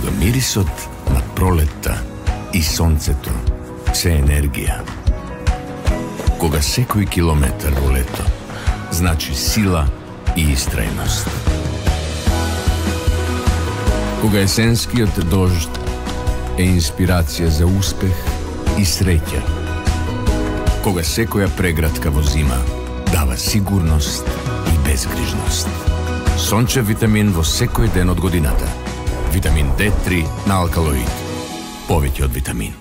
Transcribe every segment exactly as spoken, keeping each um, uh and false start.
Кога мирисот на пролетта и сонцето се енергија. Кога секој километар во лето значи сила и истрајност. Кога есенскиот дожд е инспирација за успех и среќа. Кога секоја преградка во зима дава сигурност и безгрижност. Сончев витамин во секој ден од годината. Витамин Д три на Алкалоид. Повеќе од витамин.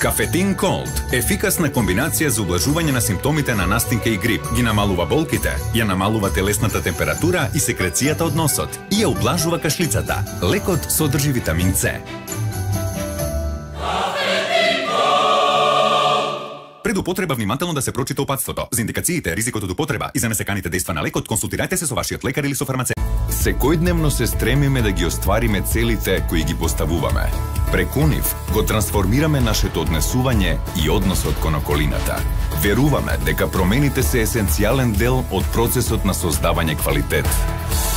Кафетин Колд, ефикасна комбинација за ублажување на симптомите на настинка и грип, ги намалува болките, ја намалува телесната температура и секрацијата од носот и ја ублажува кашлицата. Лекот содржи витамин С. Пред употреба внимателно да се прочита упатството. За индикациите, ризикот од употреба и за несеканите дејства на лекот, консултирајте се со вашиот лекар или со фармацевт. Секојдневно се стремиме да ги оствариме целите кои ги поставуваме. Преку нив го трансформираме нашето однесување и односот кон околината. Веруваме дека промените се есенцијален дел од процесот на создавање квалитет.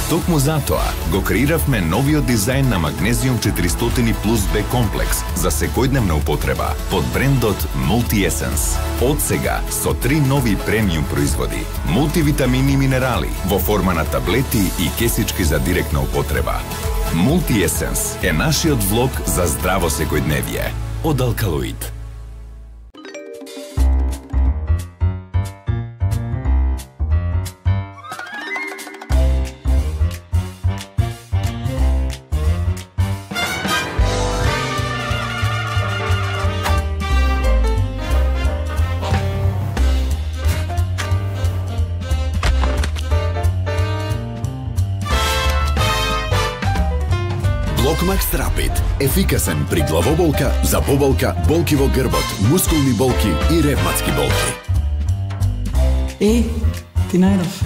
Токму затоа го креиравме новиот дизајн на Магнезиум четиристотини плюс Б комплекс за секојдневна употреба под брендот Multi-Essence. Од сега со три нови премиум производи, мултивитамини и минерали во форма на таблети и кесички за директна употреба. Multi-Essence е нашиот влог за здраво секојдневие од Алкалоид. Блокмакс Рапид. Ефикасен при главоболка, заболка, болки во грбот, мускулни болки и ревматски болки. Е, ти најдов.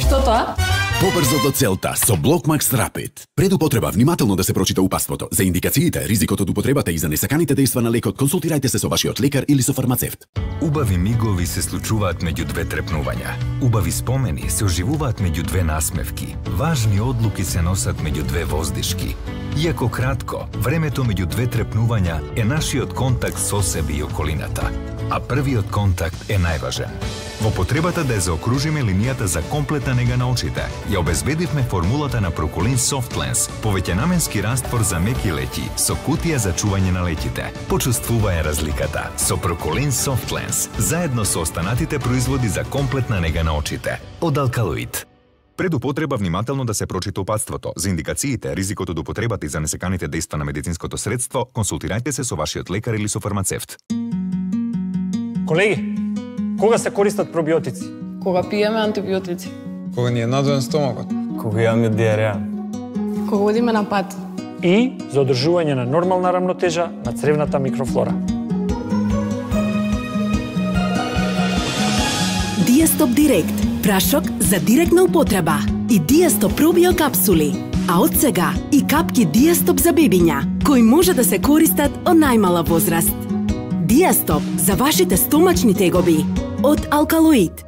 Што тоа? Побрзо до целта со Блокмакс Рапид. Пред употреба внимателно да се прочита упатството. За индикациите, ризикот од употребата и за несаканите дејства на лекот, консултирајте се со вашиот лекар или со фармацевт. Убави мигови се случуваат меѓу две трепнувања. Убави спомени се оживуваат меѓу две насмевки. Важни одлуки се носат меѓу две воздишки. Иако кратко, времето меѓу две трепнувања е нашиот контакт со себе и околината. А првиот контакт е најважен. Во потребата да ја заокружиме линијата за комплетна нега на очите, ја обезбедивме формулата на Проколин Soft Lens, повеќенаменски раствор за меки леќи со кутија за чување на леќите. Почувствувај разликата со Проколин Soft Lens, заедно со останатите производи за комплетна нега на очите од Алкалоид. Пред употреба внимателно да се прочита упатството. За индикациите, ризикот од употребата и за несеканите дејства на медицинското средство, консултирајте се со вашиот лекар или со фармацевт. Колеги, кога се користат пробиотици? Кога пиеме антибиотици. Кога ни е надоен стомакот. Кога имаме диареја. Кога одиме на пат. И за одржување на нормална рамнотежа на цревната микрофлора. Диастоп Директ, прашок за директна употреба и Диастоп пробио капсули, а од сега и капки Диастоп за бебиња, кои може да се користат од најмала возраст. Диастоп за вашите стомачни тегоби од Алкалоид.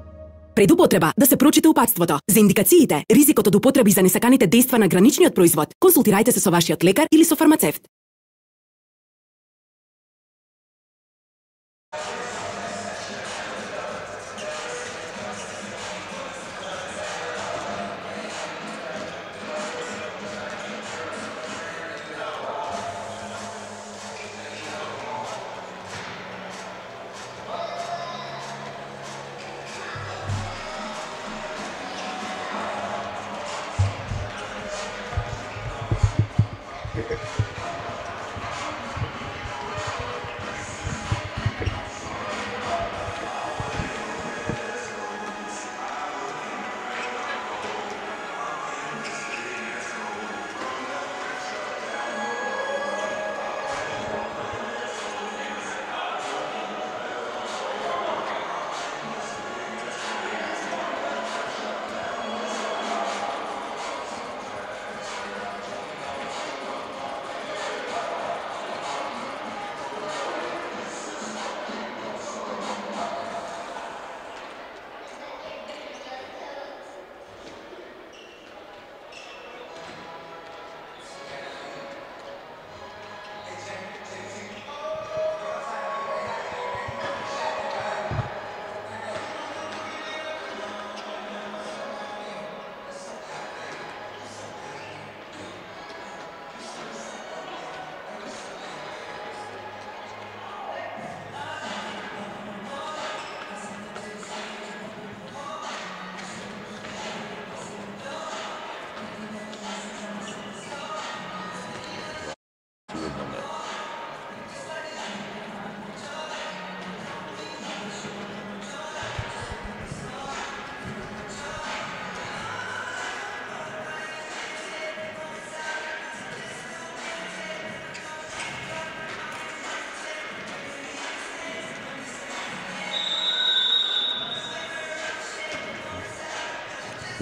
Пред употреба да се прочита упатството. За индикациите, ризикот од употреби за несаканите дејства на граничниот производ, консултирајте се со вашиот лекар или со фармацевт.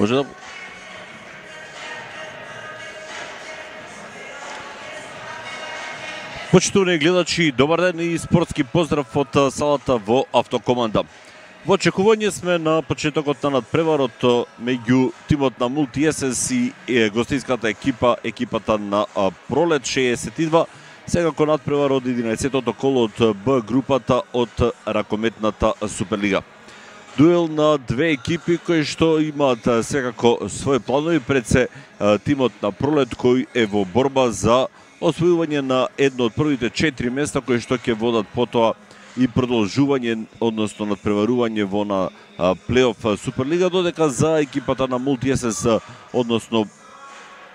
Може да Почитувани гледачи, добар ден и спортски поздрав од салата во Автокоманда. Во очекување сме на почетокот на надпреварот меѓу тимот на Мултиесенс и гостинската екипа, екипата на Пролет шеесет и два. Секако надпревар од единаесеттото коло од Б групата од ракометната Суперлига. Дуел на две екипи кои што имаат секако своји планови, пред се тимот на Пролет кој е во борба за освојување на едно од првите четири места кои што ќе водат потоа и продолжување, односно надпреварување во на плейоф Суперлига, додека за екипата на Мултиесенс, односно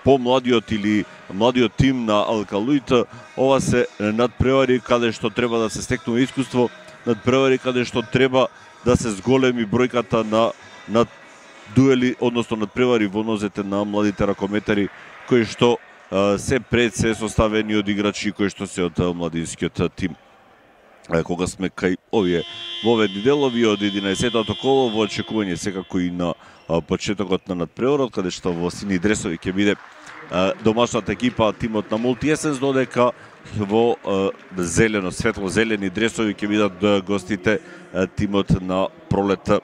помладиот или младиот тим на Алкалуит, ова се надпревари каде што треба да се стекнува искуство, надпревари каде што треба да се зголеми бројката на на дуели, односно надпревари во нозете на младите ракометари кои што се пред се составени од играчи кои што се од младинскиот тим. Кога сме кај овие воведни делови од единаесеттото коло, во очекување секако и на почетокот на надпреварот, каде што во сини дресови ќе биде домашната екипа, тимот на Мултиесенс, додека во зелено, светло-зелени дресови ќе бидат гостите, тимот на Пролет.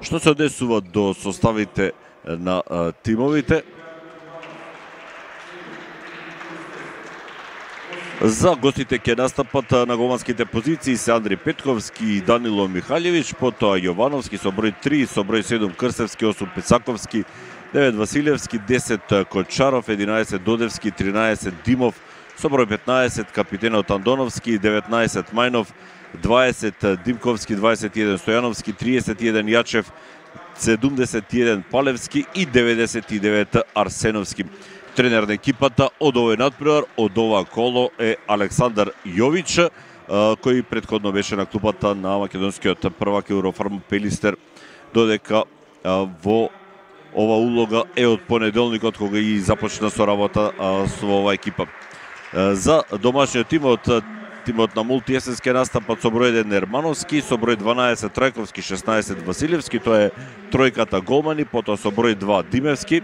Што се однесува до составите на тимовите? За гостите ќе настапат на голманските позиции се Андри Петковски и Данило Михалевич, потоа Јовановски со број три, со број седум Крсевски, осум Пецаковски, девет Василевски, десет Кочаров, единаесет Додевски, тринаесет Димов, со број петнаесет капитенот Андоновски, деветнаесет Мајнов, дваесет Димковски, дваесет и еден Стојановски, триесет и еден Јачев, седумдесет и еден Палевски и деветдесет и девет Арсеновски. Тренер на екипата од овој надпревар, од ова коло е Александар Јович, кој претходно беше на клупата на македонскиот првак Еврофарм Пелистер, додека во ова улога е од понеделникот кога и започна со работа со оваа екипа. За домашниот тимот, тимот на Мултиесенс ќе настапат со број еден Ермановски, со број дванаесет Трајковски, шеснаесет Василевски, тоа е тројката голмани, потоа со број два Димевски,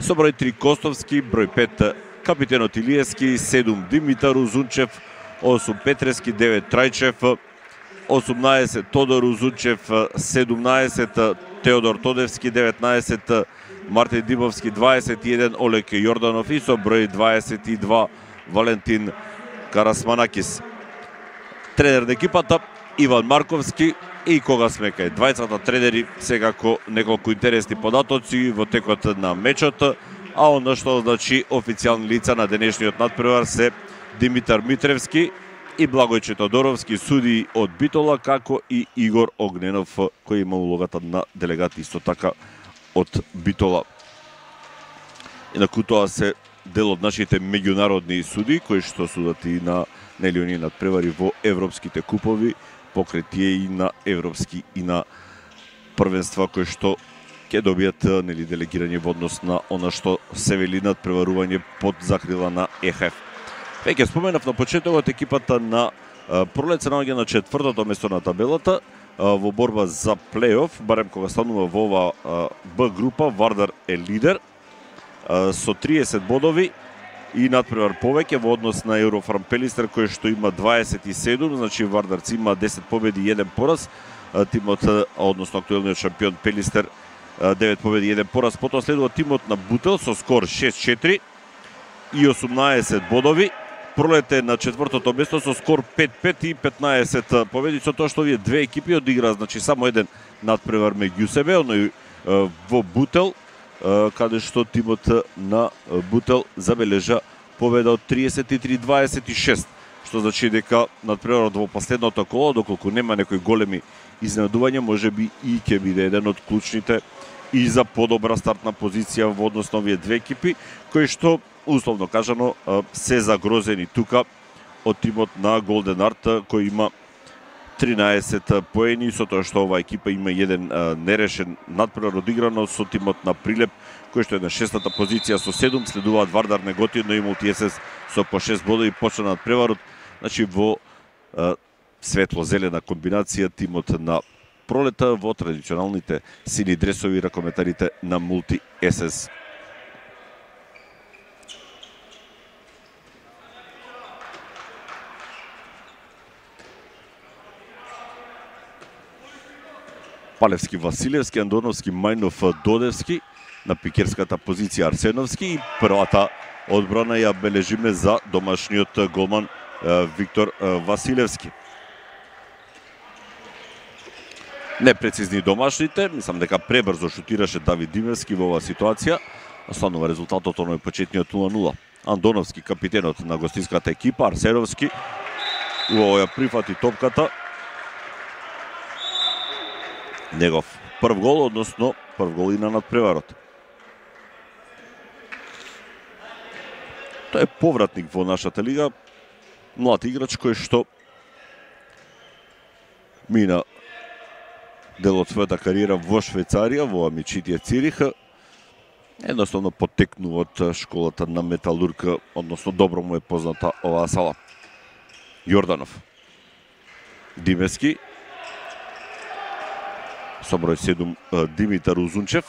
со број три Костовски, број пет капитенот Илиевски, седум Димитар Узунчев, осум Петрески, девет Трајчев, осумнаесет Тодор Узунчев, седумнаесет Теодор Тодевски, деветнаесет Мартин Димовски, дваесет и еден Олег Јорданов и со број дваесет и два Валентин Карасманакис. Тренер на екипата Иван Марковски. И кога сме кај двајцата тренери, секако неколку интересни податоци во текот на мечот, а оно што значи официјални лица на денешниот надпревар се Димитар Митревски и Благојче Тодоровски, суди од Битола, како и Игор Огненов, кој има улогата на делегат исто така од Битола. Инаку тоа се дел од нашите меѓународни суди, кои што судат и на нелиони надпревари во европските купови, покрај тие и на европски и на првенства кои што ќе добијат нели делегирање во однос на она што се вели надпреварување под закрила на Е Х Ф. Веќе споменав на почетокот, екипата на Пролет се наоѓа на четвртото место на табелата во борба за плейоф, барем кога станува во ова Б група. Вардар е лидер со триесет бодови и надпревар повеќе во однос на Еврофарм Пелистер, кој што има дваесет и седум, значи Вардарци има десет победи и еден пораз, тимот, односно актуелниот шампион Пелистер, девет победи и еден пораз. Потоа следува тимот на Бутел со скор шест четири и осумнаесет бодови. Пролет е на четвртото место со скор пет пет и петнаесет победи, со тоа што овие две екипи одиграа, значи само еден надпревар меѓу себе, оној во Бутел, каде што тимот на Бутел забележа победа од триесет и три дваесет и шест, што значи дека надпреварот во последното коло, доколку нема некои големи изненадувања, можеби и ќе биде еден од клучните и за подобра стартна позиција во однос на овие две екипи, кои што, условно кажано, се загрозени тука од тимот на Голден Арт, кој има тринаесет поени, со тоа што оваа екипа има еден а, нерешен надпревар одиграно со тимот на Прилеп, кој што е на шестата позиција со седум, следуваат Вардар, Неготино и Мултиесенс со по шест бодови. Почна надпреварот, значи во а, светло-зелена комбинација тимот на пролета во традиционалните сини дресови ракометарите на Мулти ес ес. Палевски, Василевски, Андоновски, Мајнов, Додевски, на пикерската позиција Арсеновски и првата одбрана ја бележиме за домашниот голман Виктор Василевски. Непрецизни домашните, мислам дека пребрзо шутираше Давид Димевски во оваа ситуација, останува резултатот оној почетниот нула нула. Андоновски, капитенот на гостинската екипа, Арсеновски, убаво ја прифати топката. Негов прв гол, односно прв гол и на надпреварот. Тој е повратник во нашата лига, млад играч кој што мина дел од својата кариера во Швајцарија, во Амичитија Цирих, едноставно потекнува од школата на Металург, односно добро му е позната оваа сала. Јорданов, Димевски, со број седум Димитар Узунчев,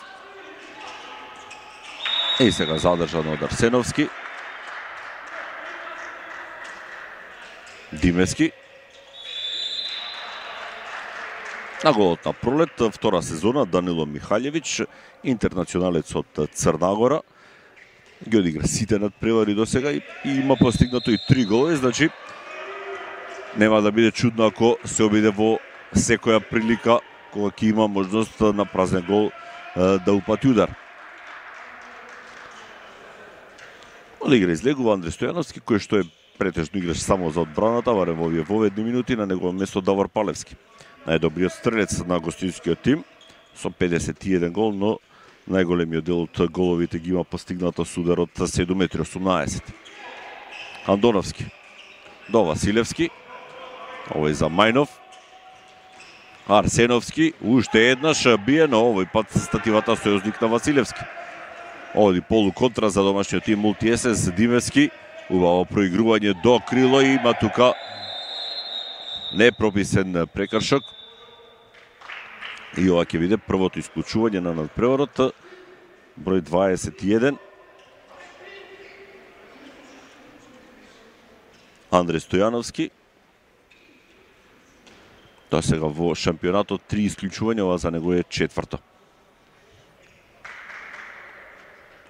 и сега задржан од Арсеновски. Димевски. На голот на пролет, втора сезона, Данило Михаљевиќ, интернационалец од Црна ги одигра сите надпревари до сега и, и има постигнато и три голови, значи нема да биде чудно ако се обиде во секоја прилика кога ќе има можност на празен гол да упати удар. Од игра излегува Андре Стојановски, кој што е претежно играч само за одбраната, барем во овие воведни минути, на негово место Давор Палевски. Најдобриот стрелец на гостинскиот тим, со педесет и еден гол, но најголемиот дел од головите ги има постигнато с удар од седум метри осумнаесет. Андоновски до Василевски, овој за Мајнов. Арсеновски, уште еднаш бие, но овој пат стативата сојузник на Василевски. Оди полу контра за домашниот тим Мулти ес ес. Димевски, убаво проигрување до крило и има тука непрописен прекршок. И ова ќе биде првото исклучување на надпреварот, број дваесет и еден. Андре Стојановски. Тоа сега во шампионатот три исклучувања, ова за него е четврто.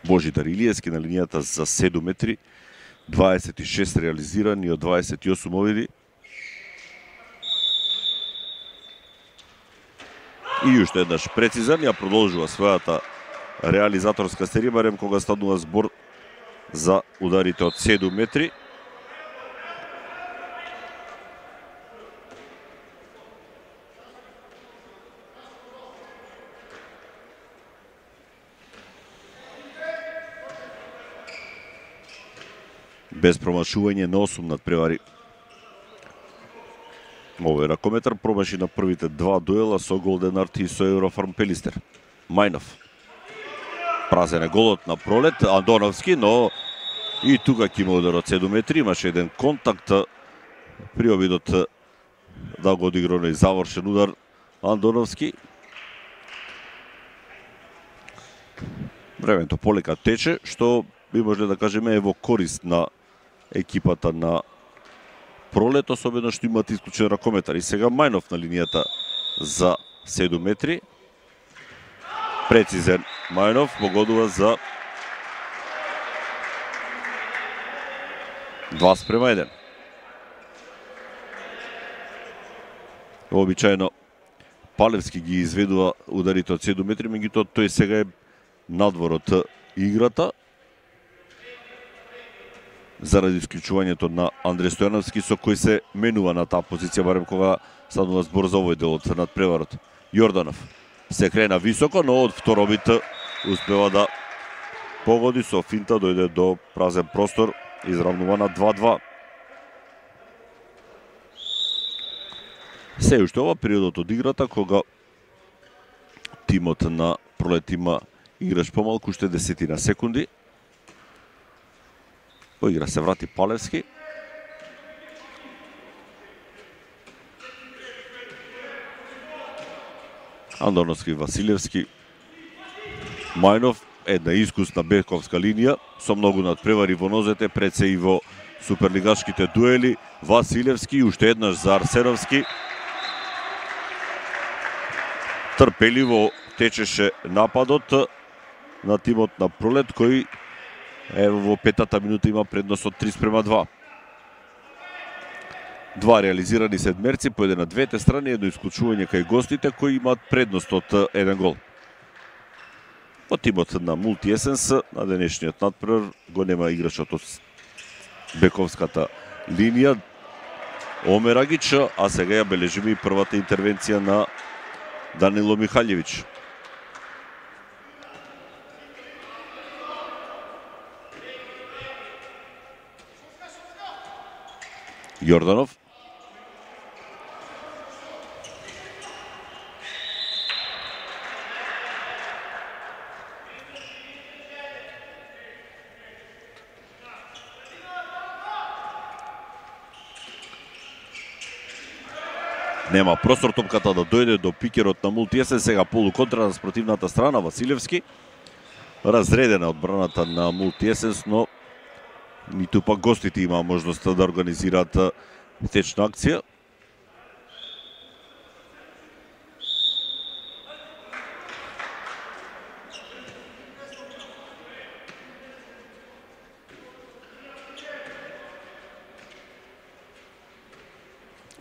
Божидар Илиевски на линијата за седум метри, дваесет и шест реализирани од дваесет и осум обиди. И уште еднаш прецизен, ја продолжува својата реализаторска серија, барем кога станува збор за ударите од седум метри. Без промашување на осум надпревари. Овој ракометар промаши на првите два дуела со Голден Арт и со Еврофарм Пелистер. Мајнов. Празен е голот на пролет, Андоновски, но и тука ќе има удар од седум метри, имаше еден контакт при обидот да го одигра оној завршен удар Андоновски. Времето полека тече, што би можеле да кажеме е во корист на екипата на пролет, особено што имат исклучен ракометар. И сега Мајнов на линијата за седум метри. Прецизен Мајнов, погодува за два спрема еден. Обичајно Палевски ги изведува ударите од седум метри, меѓутоа тој сега е надвор од играта заради исклучувањето на Андре Стојановски, со кој се менува на таа позиција, барем кога станува збор за овој дел од надпреварот. Јорданов се крена високо, но од втор бит успева да погоди со финта, дојде до празен простор, изравнува на два-два. Се уште ова периодот од играта, кога тимот на пролет има играч помалку, уште десетина секунди. Во игра се врати Палевски. Андоновски, Василевски, Мајнов, една искусна бековска линија со многу надпревари во нозете, пред се и во суперлигашките дуели. Василевски, уште еднаш за Арсеновски. Трпеливо течеше нападот на тимот на Пролет, кој ево во петата минута има предност од три спрема два. Два реализирани седмерци, по еден на двете страни, едно исклучување кај гостите кои имаат предност од еден гол. Во тимот на Мултиесенс на денешниот надпревар го нема играчот од бековската линија Омерагич, а сега ја бележиме и првата интервенција на Данило Михаљевиќ. Јорданов. Нема простор топката да дојде до пикерот на Мултиесен, сега полуконтра на спротивната страна Василевски. Разредена одбраната на Мултиесенс, но ниту пак гостите има можноста да организираат течна акција.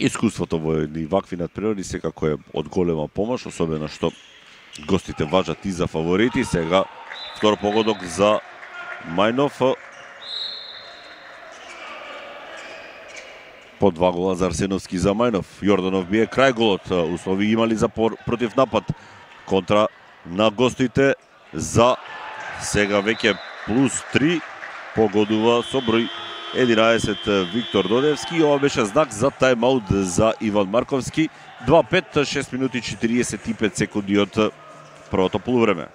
Искуството во едни вакви надпревари секако е од голема помош, особено што гостите важат и за фаворити. Сега втор погодок за Мајнов. По два гола за Арсеновски за Мајнов. Јорданов бие крај голот. Услови имали за против напад. Контра на гостите за сега веќе плюс три. Погодува со број единаесет Виктор Додевски. Ова беше знак за тајмаут за Иван Марковски. два пет, шест минути четириесет и пет секунди од првото полувреме.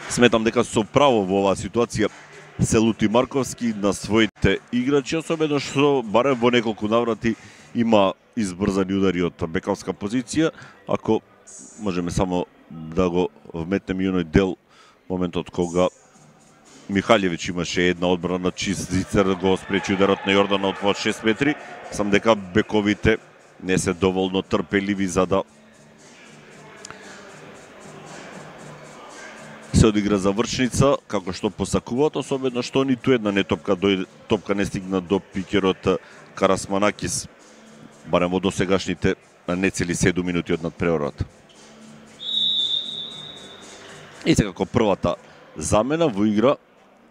Сметам дека со право во оваа ситуација се лути Марковски на своите играчи, особено што барем во неколку наврати има избрзани удари од бековска позиција. Ако можеме само да го вметнеме и оној дел, моментот кога Михаљевиќ имаше една одбрана чист зицер, го спречи ударот на Јорданов од шест метри. Сам дека бековите не се доволно трпеливи за да се одигра завршница, како што посакуваат, особено што ниту една не топка дојде, топка не стигна до пикерот Карасманакис, барем во досегашните нецели седум минути од надпреварот. И секако првата замена во игра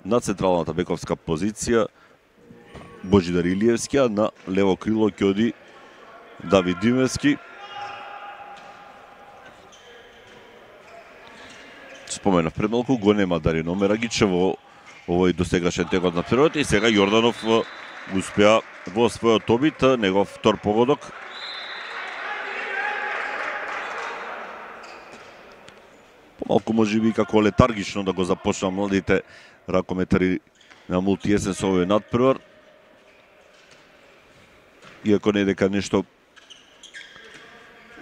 на централната бековска позиција Божидар Илиевски, а на лево крило ќе оди Давид Димевски. Споменав пред малку, го нема Дарин Омерагич во овој досегашен тек од надпреварот и сега Јорданов успеа во својот обид, негов втор погодок. Помалку можеби како летаргично да го започна младите ракометари на Мултиесен со овој надпревар. Иако не дека нешто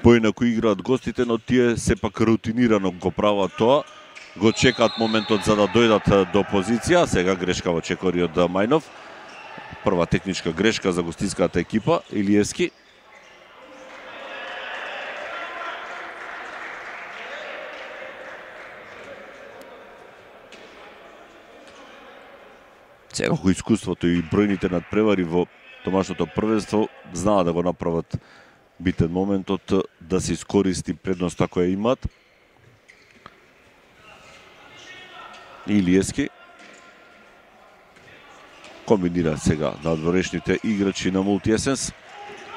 поинаку играат гостите, но тие сепак рутинирано го прават тоа. Го чекаат моментот за да дојдат до позиција. Сега грешка во чекориот Мајнов. Прва техничка грешка за гостинската екипа, Илиевски. Секако искуството и бројните надпревари во домашното првенство знаат да го направат битен моментот, да се искористи предноста која имаат. Илиевски комбинира сега надворешните играчи на Мултиесенс.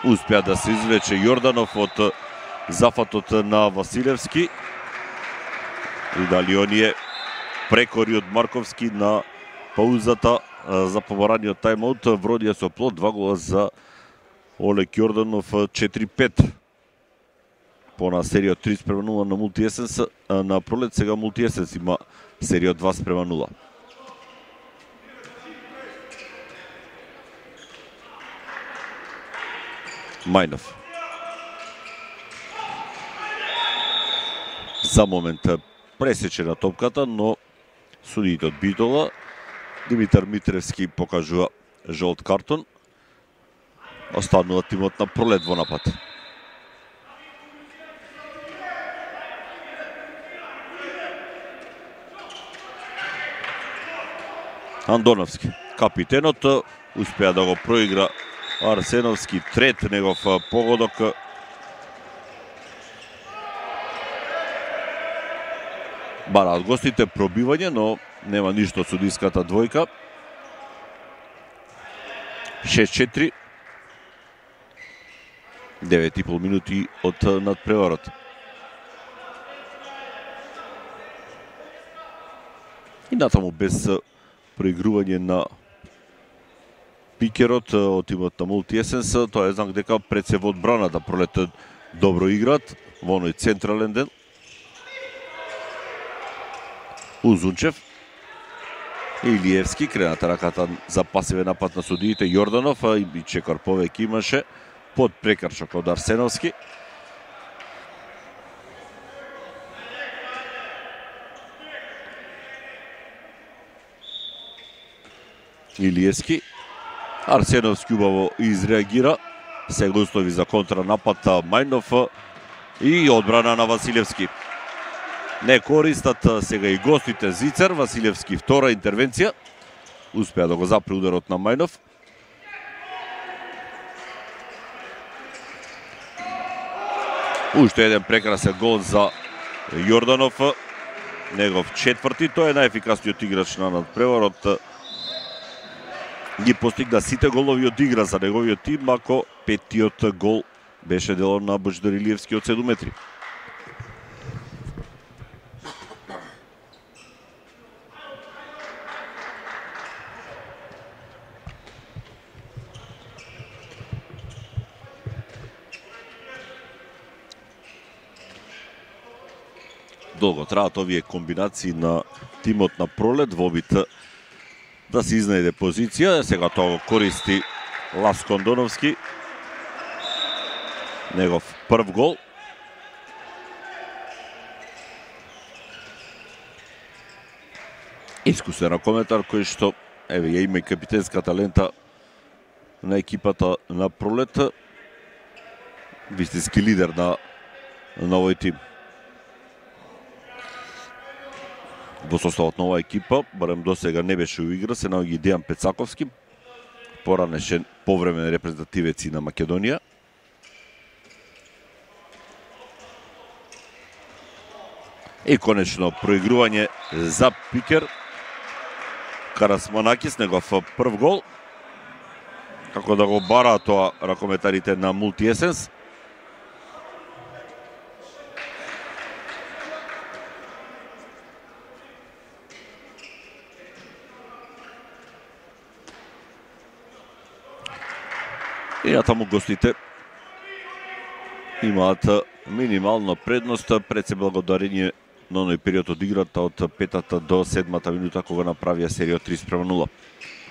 Успеа да се извлече Јорданов од зафатот на Василевски. И дали оние прекори од Марковски на паузата за побараниот тајмаут вродија со плод, два гола за Олег Јорданов, четири пет. по на серија три спрема нула на Мултиесенс на пролет, сега Мултиесенс има серија два спрема нула. Мајнов. За момент пресечена топката, но судиите од Битола, Димитар Митревски покажува жолт картон. Останува тимот на пролет во напад. Андоновски, капитенот, успеа да го проигра Арсеновски, трет негов погодок. Бараат гостите пробивање, но нема ништо од судиската двојка. шест четири. девет и пол минути од надпреварот. И натаму без проигрување на пикерот од тимот на Мултиесенс, тоа е знак дека пред се во одбраната пролет добро играат во оној централен ден. Узунчев, Илиевски, крената раката за пасивен напад на судиите, Јорданов и чекор повеќе имаше под прекршок од Арсеновски. Илиевски, Арсеновски убаво изреагира, сега услови за контранапад Мајнов и одбрана на Василевски. Не користат сега и гостите Зицер, Василевски втора интервенција, успеа да го запре ударот на Мајнов. Уште еден прекрасен гол за Јорданов, негов четврти, тој е најефикасниот играч на надпреварот. Ги постигна сите голови од игра за неговиот тим, ако петтиот гол беше дело на Божидар Илиевски од седум метри. Долго траат овие комбинации на тимот на пролет во обид да се изнајде позиција. Сега тоа го користи Ласко Андоновски. Негов прв гол. Искусен ракометар кој што еве ја има и капитенската лента на екипата на пролет. Вистински лидер на на овој тим. Во составот на оваа екипа, барем до сега не беше у игра, се наоѓа Дејан Пецаковски, поранешен повремен репрезентативец на Македонија. И конечно проигрување за пикер. Карасманакис, негов прв гол. Како да го бара тоа ракометарите на Мултиесенс. И натаму гостите имаат минимална предност пред се благодарение на оној период од играта од петата до седмата минута кога направија серија три спрема нула.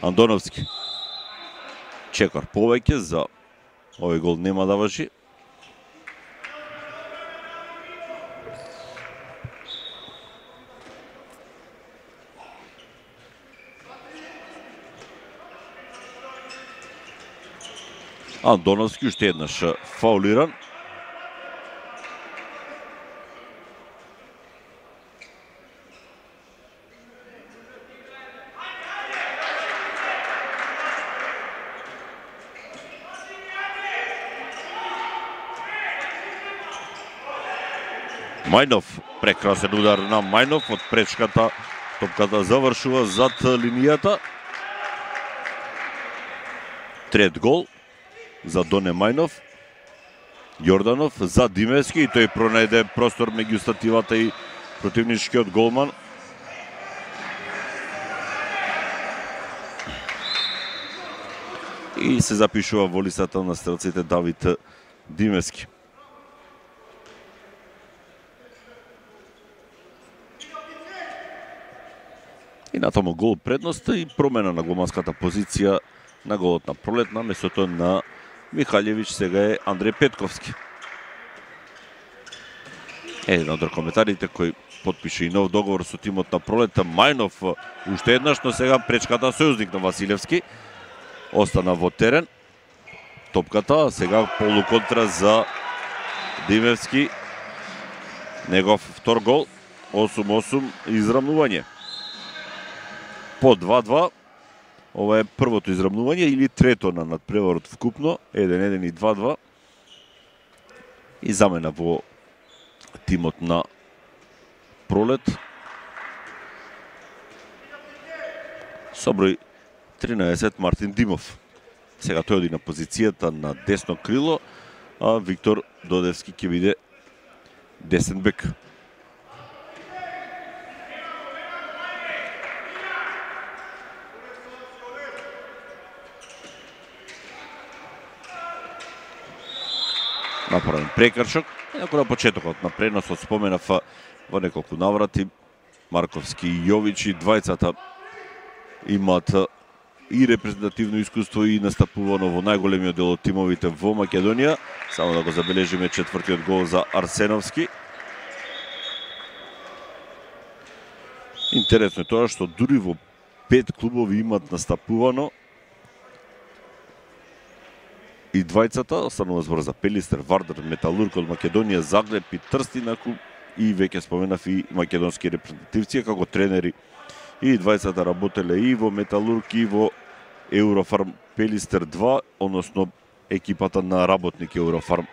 Андоновски. Чекор повеќе за овој гол нема да важи. Андоновски уште еднаш фаулиран. Мајнов, прекрасен удар на Мајнов од пречката, топката завршува зад линијата. Трет гол за Доне Мајнов. Јорданов за Димевски и тој пронајде простор меѓу стативата и противничкиот голман. И се запишува во листата на стрелците Давид Димевски. И натаму гол предност и промена на голманската позиција на голот на Пролет на местото на Михалјевиќ сега е Андреј Петковски. Еден од коментарите кој потпише и нов договор со тимот на Пролет, Мајнов уште еднаш, но сега пречката сојузник на Василевски остана во терен. Топката сега полуконтра за Димевски. Негов втор гол, осум осум израмнување. По два-два, ова е првото израмнување или трето на надпреварот вкупно, еден еден и два-два. И замена во тимот на Пролет. Со број тринаесет Мартин Димов. Сега тој оди на позицијата на десно крило, а Виктор Додевски ќе биде десен бек. Направен прекршок. Инаку на почетокот на преносот споменав во неколку наврати Марковски и Јовичи, двајцата имаат и репрезентативно искуство и настапувано во најголемиот дел од тимовите во Македонија. Само да го забележиме четвртиот гол за Арсеновски. Интересно е тоа што дури во пет клубови имаат настапувано и двајцата, останува збор за Пелистер, Вардар, Металург од Македонија, Загреб и Трстинаку и веќе споменав и македонски репрезентативци како тренери. И двајцата работеле и во Металург и во Еврофарм Пелистер два, односно екипата на работник Еврофарм.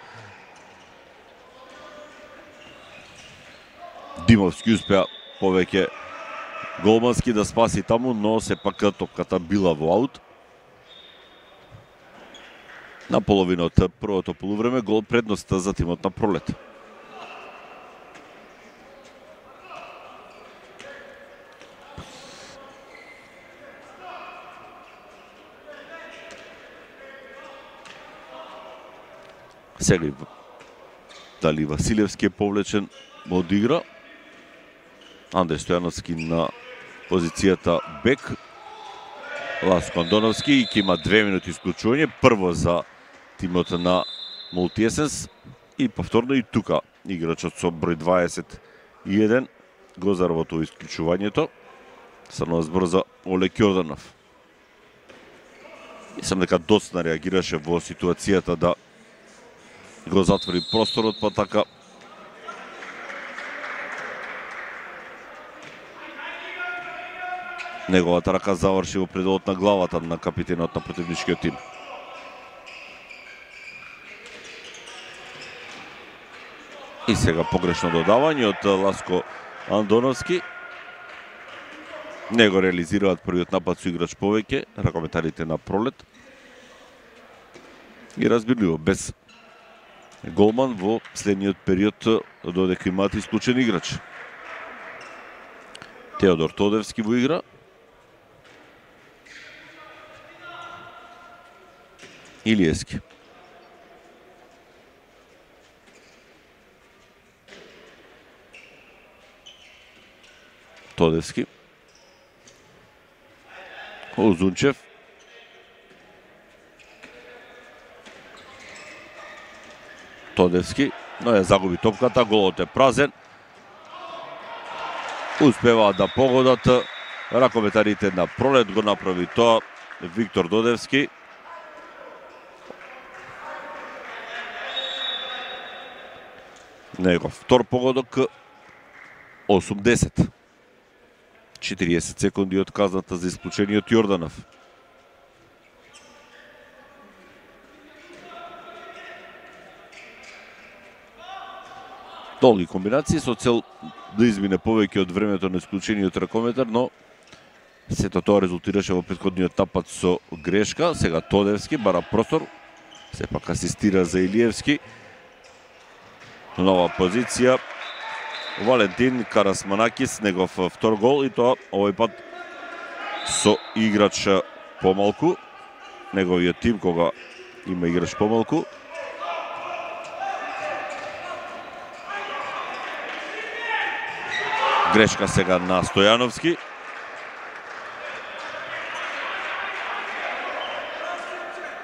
Димовски успеа повеќе голмански да спаси таму, но сепак топката била во аут. На половина од првото полувреме гол предноста за тимот на Пролет. Сега дали Василевски е повлечен од игра. Андреј Стојановски на позицијата бек. Ласко Андоновски и ќе има две минути исклучување. Прво за тимот на Мултиесенс и повторно и тука играчот со број дваесет и еден го заработува исклучувањето. Станува збор за Олег Јорданов. Мислам дека доцна реагираше во ситуацијата да го затвори просторот, па така неговата рака заврши во пределот на главата на капитенот на противничкиот тим. И сега погрешно додавање од Ласко Андоновски. Не го реализираат првиот напад со играч повеќе, ракометарите на Пролет. И разбирливо, без голман во следниот период додека имаат исклучен играч. Теодор Тодевски во игра. Илиевски. Тодевски. Озунчев. Тодевски, но ја загуби топката, голот е празен. Успеваат да погодат, ракометарите на Пролет го направи тоа Виктор Додевски. Негов втор погодок, осумдесет. четириесет секунди од казната за исклучениот Јорданов. Долги комбинации со цел да измине повеќе од времето на исклучениот ракометар, но сето тоа резултираше во претходниот напад со грешка. Сега Тодевски бара простор, сепак асистира за Илиевски. Нова позиција. Валентин Карасманакис, негов втор гол и тоа овој пат со играч помалку. Неговиот тим кога има играч помалку. Грешка сега на Стојановски.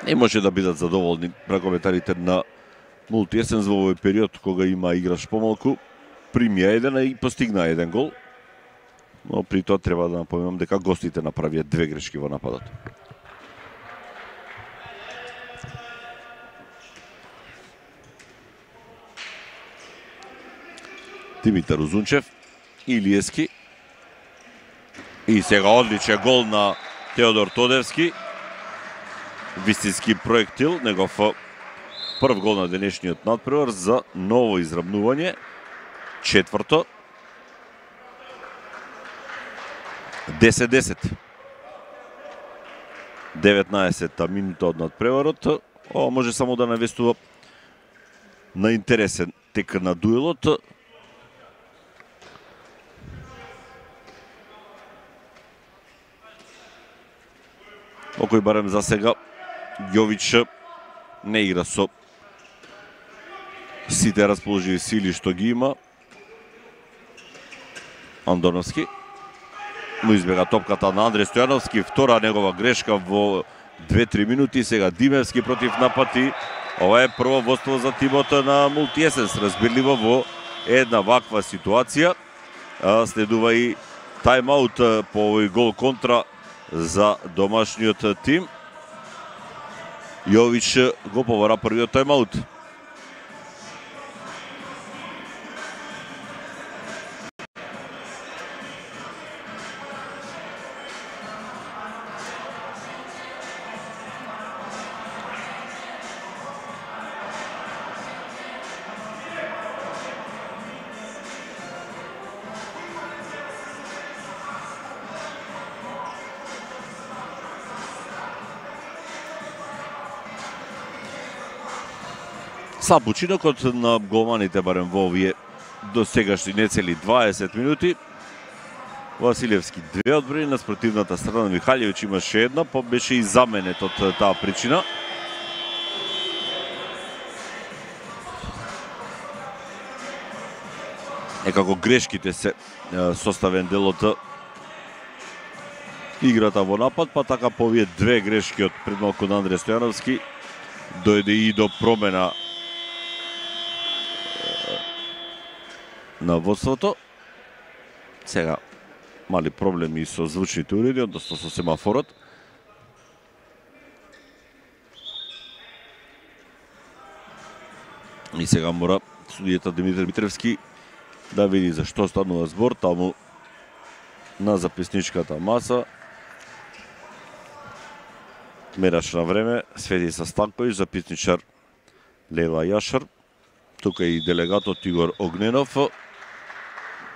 Не може да бидат задоволни ракометарите на Мултиесенс во овој период кога има играш помалку. Примија еден и постигна еден гол. Но при тоа треба да напоменам дека гостите направија две грешки во нападот. Димитар Узунчев, Илиевски. И сега одличен гол на Теодор Тодевски. Вистински проектил, негов прв гол на денешниот надпревар за ново изравнување. Четврто. десет десет. деветнаесетта минута од надпреварот. Ова може само да навестува на интересен тек на дуелот. Окој барем за сега Јович не игра со сите расположиви сили што ги има. Андоновски му избега топката на Андре Стојановски, втора негова грешка во две-три минути. Сега Димевски против напати. Ова е прво водство за тимот на Мултиесенс. Разбирливо во една ваква ситуација. Следува и тајмаут по овој гол контра за домашниот тим. Јович го повара првиот тајмаут. Слаб учинокот на голманите барем во овие до сегашни нецели дваесет минути. Василевски две одбрани, на спротивната страна Михалјевич имаше една, па беше и заменет од таа причина. Некако грешките се составен дел од играта во напад, па така по овие две грешки од предмалку на Андре Стојановски дојде и до промена на водството. Сега мали проблеми со звучните уреди, односно со семафорот. И сега мора судијата Димитар Митревски да види за што станува збор таму на записничката маса. Мерач на време Светица Станковиќ, записничар Лела Јашар, тука и делегатот Игор Огненов.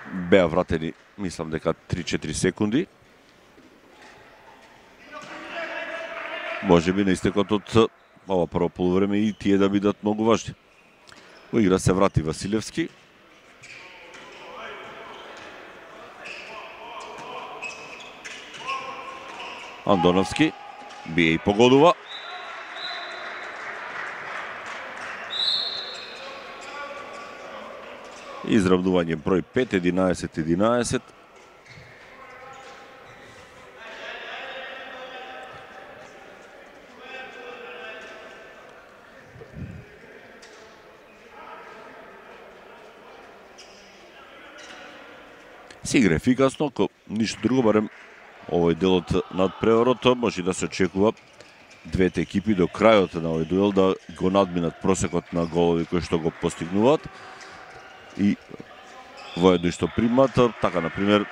Беа вратени, мислам дека три-четири секунди. Може би на истекот од ова прво полувреме и тие да бидат многу важни. Во игра се врати Василевски. Андоновски бие и погодува. Изравнување број пет, единаесет единаесет. Се игра ефикасно, ко ништо друго, барем овој делот над преварот може да се очекува двете екипи до крајот на овој дуел да го надминат просекот на голови кои што го постигнуваат и воедно што примат. Така, например,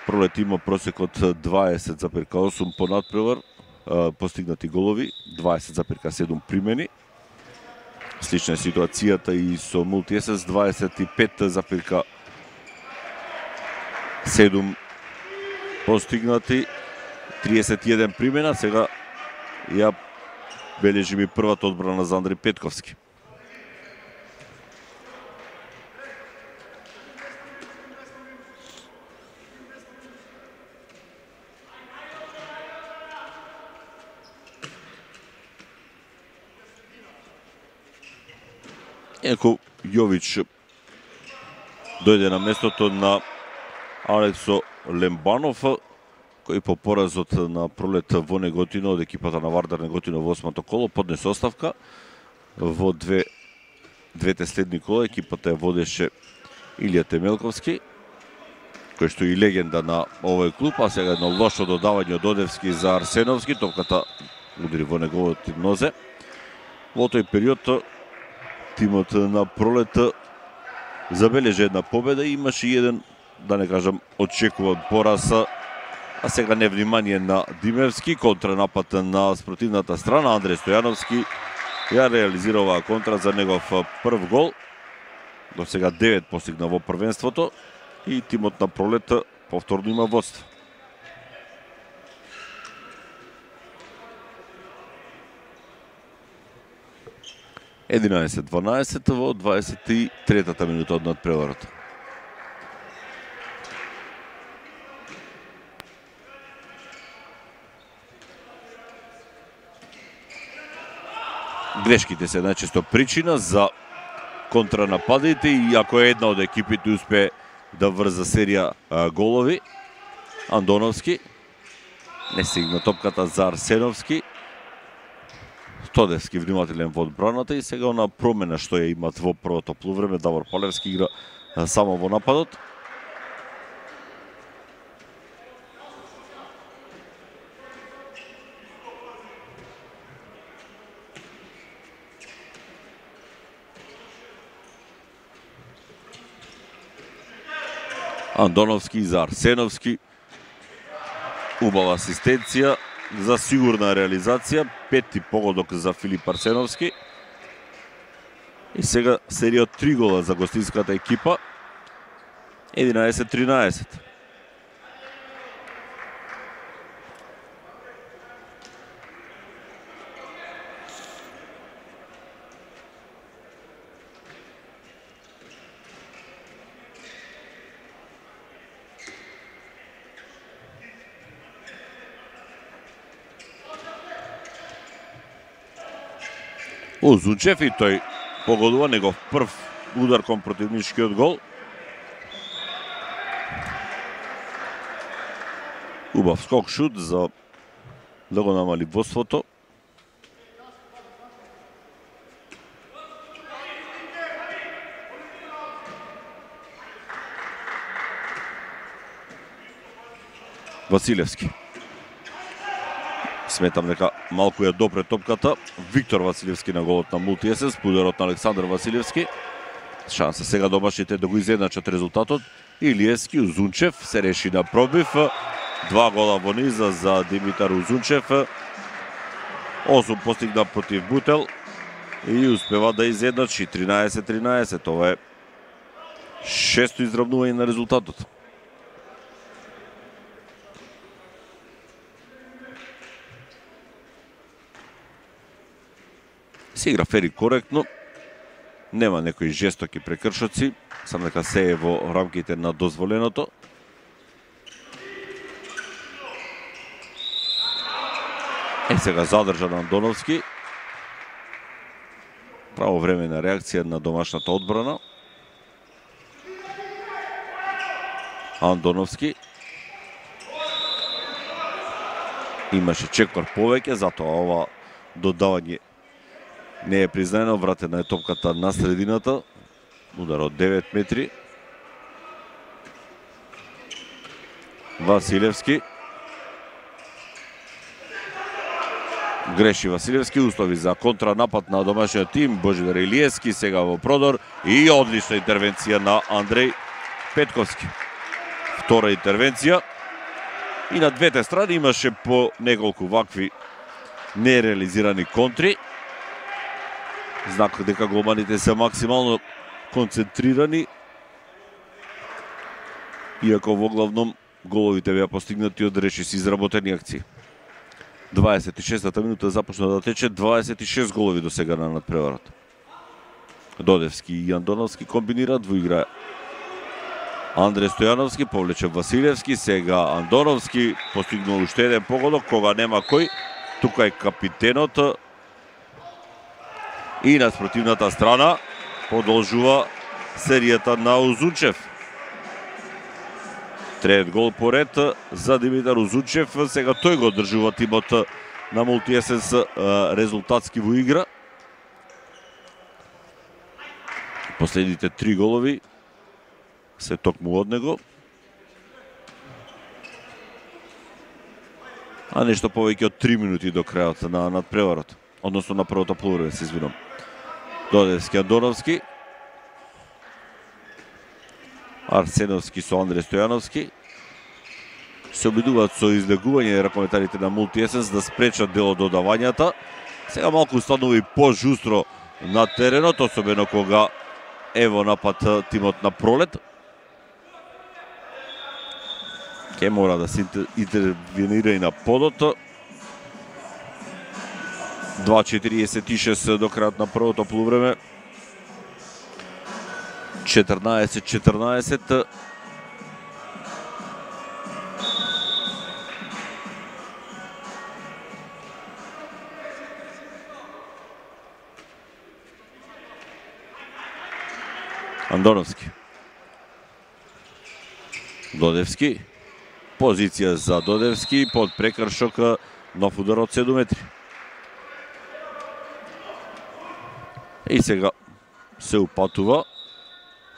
Пролет има просекот дваесет зарез осум по надпревар, постигнати голови, дваесет зарез седум примени. Слична е ситуацијата и со Мултиесенс, дваесет и пет зарез седум постигнати, триесет и еден примена. Сега ја бележи ми првата одбрана за Андри Петковски. Еко Јович дојде на местото на Алексо Лембанов, кој по поразот на пролет во Неготино од екипата на Вардар Неготино во осмото коло поднесе оставка. Во две, двете следни кола екипата ја водеше Илија Темелковски, кој што и легенда на овој клуб, а сега едно лошо додавање од Одевски за Арсеновски, топката удари во неговото нозе. Во тој период тимот на пролет забележа една победа и имаше и еден, да не кажам, очекуван пораз, а сега невнимание на Димевски, контранапад на спротивната страна. Андреј Стојановски ја реализира оваа контра за негов прв гол. До сега девет постигна во првенството и тимот на пролет повторно има водство. единаесет дванаесет во дваесет и третата минута од надпреварот. Грешките се најчесто причина за контранападите и ако е една од екипите успее да врза серија а, голови, Андоновски не стигна топката за Арсеновски. Тодевски внимателен во одбраната и сега на промена што ја имат во првото полувреме. Давор Палевски игра само во нападот. Андоновски за Арсеновски. Убава асистенција за сигурна реализација. Пети погодок за Филип Арсеновски. И сега серија од три гола за гостинската екипа. единаесет тринаесет. Озунчев и тој погодува негов прв удар кон противничкиот гол. Убав скок шут за да го намали водството. Василевски. Сметам дека малку ја допре топката. Виктор Василевски на голот на Мултиесенс, ударот на Александар Василевски. Шанса сега домашните да го изедначат резултатот. Илиевски, Узунчев се реши на пробив. Два гола во низа за Димитар Узунчев. осум постигна против Бутел и успева да изедначи тринаесет тринаесет. Ова е шесто изравнување на резултатот. Се игра фери коректно, нема некои жестоки прекршоци, само дека се е во рамките на дозволеното. Е сега задржан Андоновски. Правовременна реакција на домашната одбрана. Андоновски. Имаше чекор повеќе, затоа ова додавање не е признаено. Вратена е топката на средината. Удар од девет метри. Василевски. Греши Василевски, услови за контранапад на домашниот тим. Божидар Илиевски сега во продор и одлична интервенција на Андреј Петковски. Втора интервенција. И на двете страни имаше по неколку вакви нереализирани контри. Знак дека голманите се максимално концентрирани. Иако во главном головите беа постигнати од решиси изработени акции. дваесет и шестата минута започна да тече, дваесет и шест голови до сега на надпреварот. Додевски и Андоновски комбинираат во игра. Андреј Стојановски повлече Василевски, сега Андоновски постигнал уште еден погодок кога нема кој. Тука е капитенот. И на спротивната страна продолжува серијата на Узунчев. Трет гол поред за Димитар Узунчев. Сега тој го одржува тимот на Мултиесенс резултатски во игра. Последните три голови се токму од него. А нешто повеќе од три минути до крајот на надпреварот. Односно на првото полувреме, се извинам. Додевски, Андоновски. Арсеновски со Андре Стојановски. Се обидуваат со излегување ракометарите на Мултиесенс да спречат дел од додавањата. Сега малку станува и пожустро на теренот, особено кога ево напад тимот на Пролет. Ке мора да се интервенира и на подот. два четиридесет и шест до крајот на првото полувреме. четрнаесет четрнаесет. Андоновски. Додевски. Позиција за Додевски под прекршок, нов удар од седум метри. И сега се упатува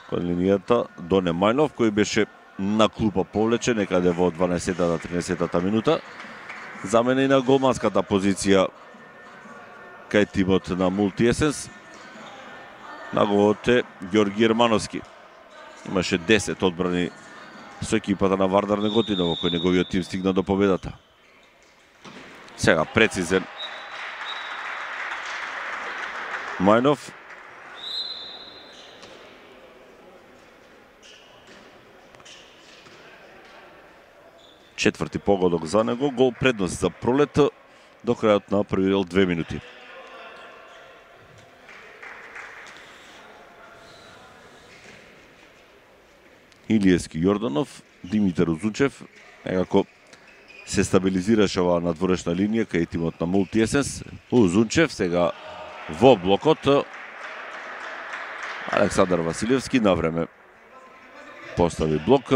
кон линијата до Немајнов, кој беше на клупа повлечен некаде во дванаесетата тринесетата минута. Замена и на голманската позиција кај тимот на Мултиесенс. На голот е Ѓорги Ермановски. Имаше десет одбрани со екипата на Вардар Неготино, во кој неговиот тим стигна до победата. Сега прецизен Мајнов. Четврти погодок за него, гол предност за Пролет до крајот на први дел, две минути. Илиевски, Јорданов, Димитар Узунчев, некако се стабилизираше оваа надворешна линија кај тимот на Мултиесенс. Узунчев сега во блокот. Александар Василевски на време постави блок.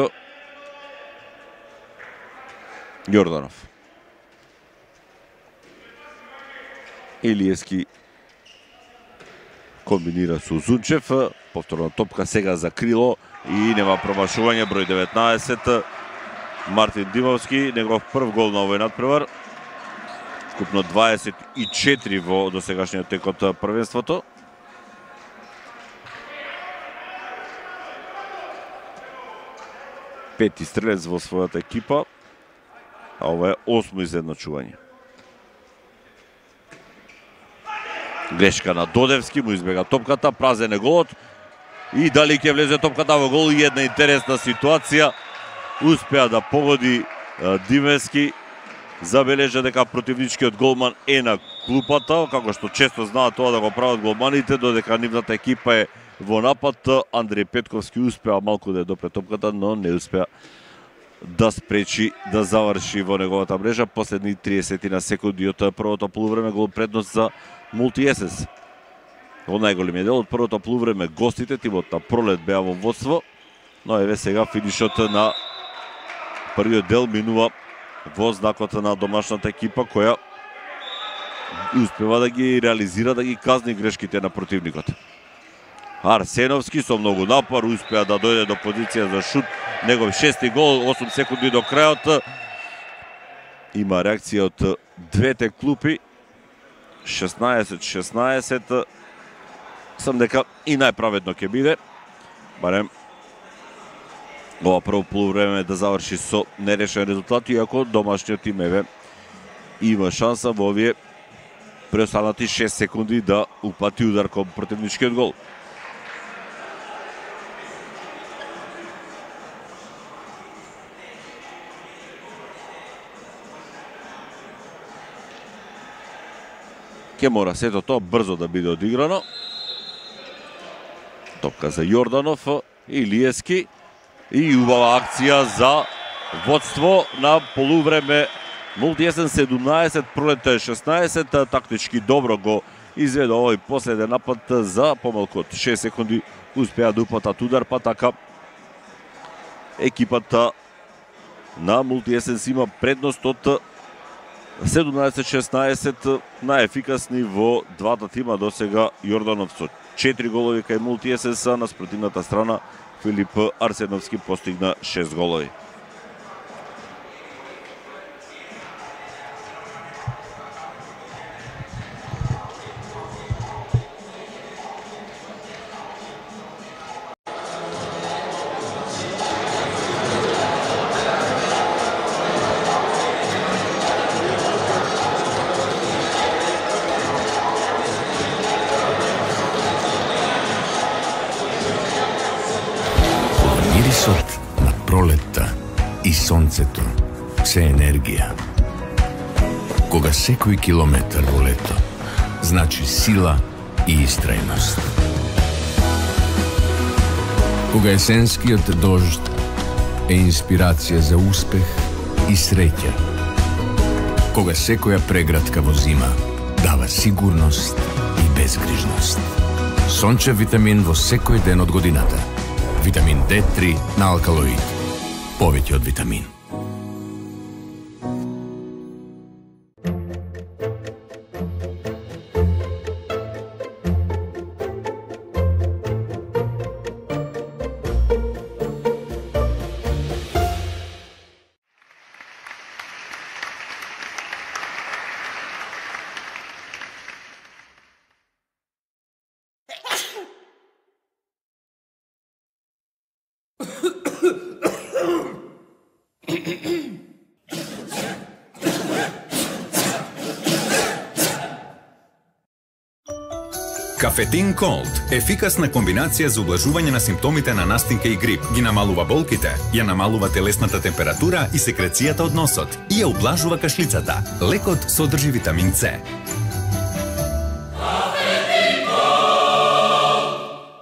Јорданов. Илиевски комбинира со Узунчев. Повторна топка сега за крило и нема промашување, број деветнаесет. Мартин Димовски, негов прв гол на овој надпревар. Вкупно дваесет и четири во досегашниот тек од првенството. Пети стрелец во својата екипа, а ова е осмо изедначување. Грешка на Додевски, му избега топката, празен е голот. И дали ќе влезе топката во гол, и една интересна ситуација. Успеа да погоди Димевски. Забележа дека противничкиот голман е на клупата, како што често знаат тоа да го прават голманите, додека нивната екипа е во напад. Андреј Петковски успеа малку да ја допре топката, но не успеа да спречи да заврши во неговата мрежа. Последни триесет на секунди од првото полувреме, гол предност за Мултиесенс. Во најголемиот дел од првото полувреме гостите, тимот на Пролет беа во водство, но еве сега финишот на првиот дел минува во знакот на домашната екипа, која успева да ги реализира, да ги казни грешките на противникот. Арсеновски со многу напор успеа да дојде до позиција за шут. Негов шести гол, осум секунди до крајот. Има реакција од двете клупи. шеснаесет шеснаесет. Сам дека и најправедно ќе биде. Барем ова прво полувреме да заврши со нерешен резултат, иако домашниот тим еве има шанса во овие преостанати шест секунди да упати удар кон противничкиот гол. Ке мора сето тоа брзо да биде одиграно. Топка за Јорданов, Илиевски и убава акција за водство на полувреме. Мултиесенс седумнаесет, Пролет шеснаесет. Тактички добро го изведе овој последен напад за помалку од шест секунди. Успеа да упатат удар, па така екипата на Мултиесенс има предност од седумнаесет шеснаесет, најефикасни во двата тима досега. Јорданов со четири голови кај Мултиесенс, на спротивната страна Филип Арсеновски постигна шест голови. Мирисот на пролетта и сонцето се енергија. Кога секој километар во лето значи сила и истрајност. Кога есенскиот дожд е инспирација за успех и среќа. Кога секоја прегратка во зима дава сигурност и безгрижност. Сончев витамин во секој ден од годината. Витамин Д три на Алкалоид. Повеќе од витамин. Кафетин Колд – ефикасна комбинација за ублажување на симптомите на настинка и грип. Ги намалува болките, ја намалува телесната температура и секрецијата од носот и ја ублажува кашлицата. Лекот содржи витамин С.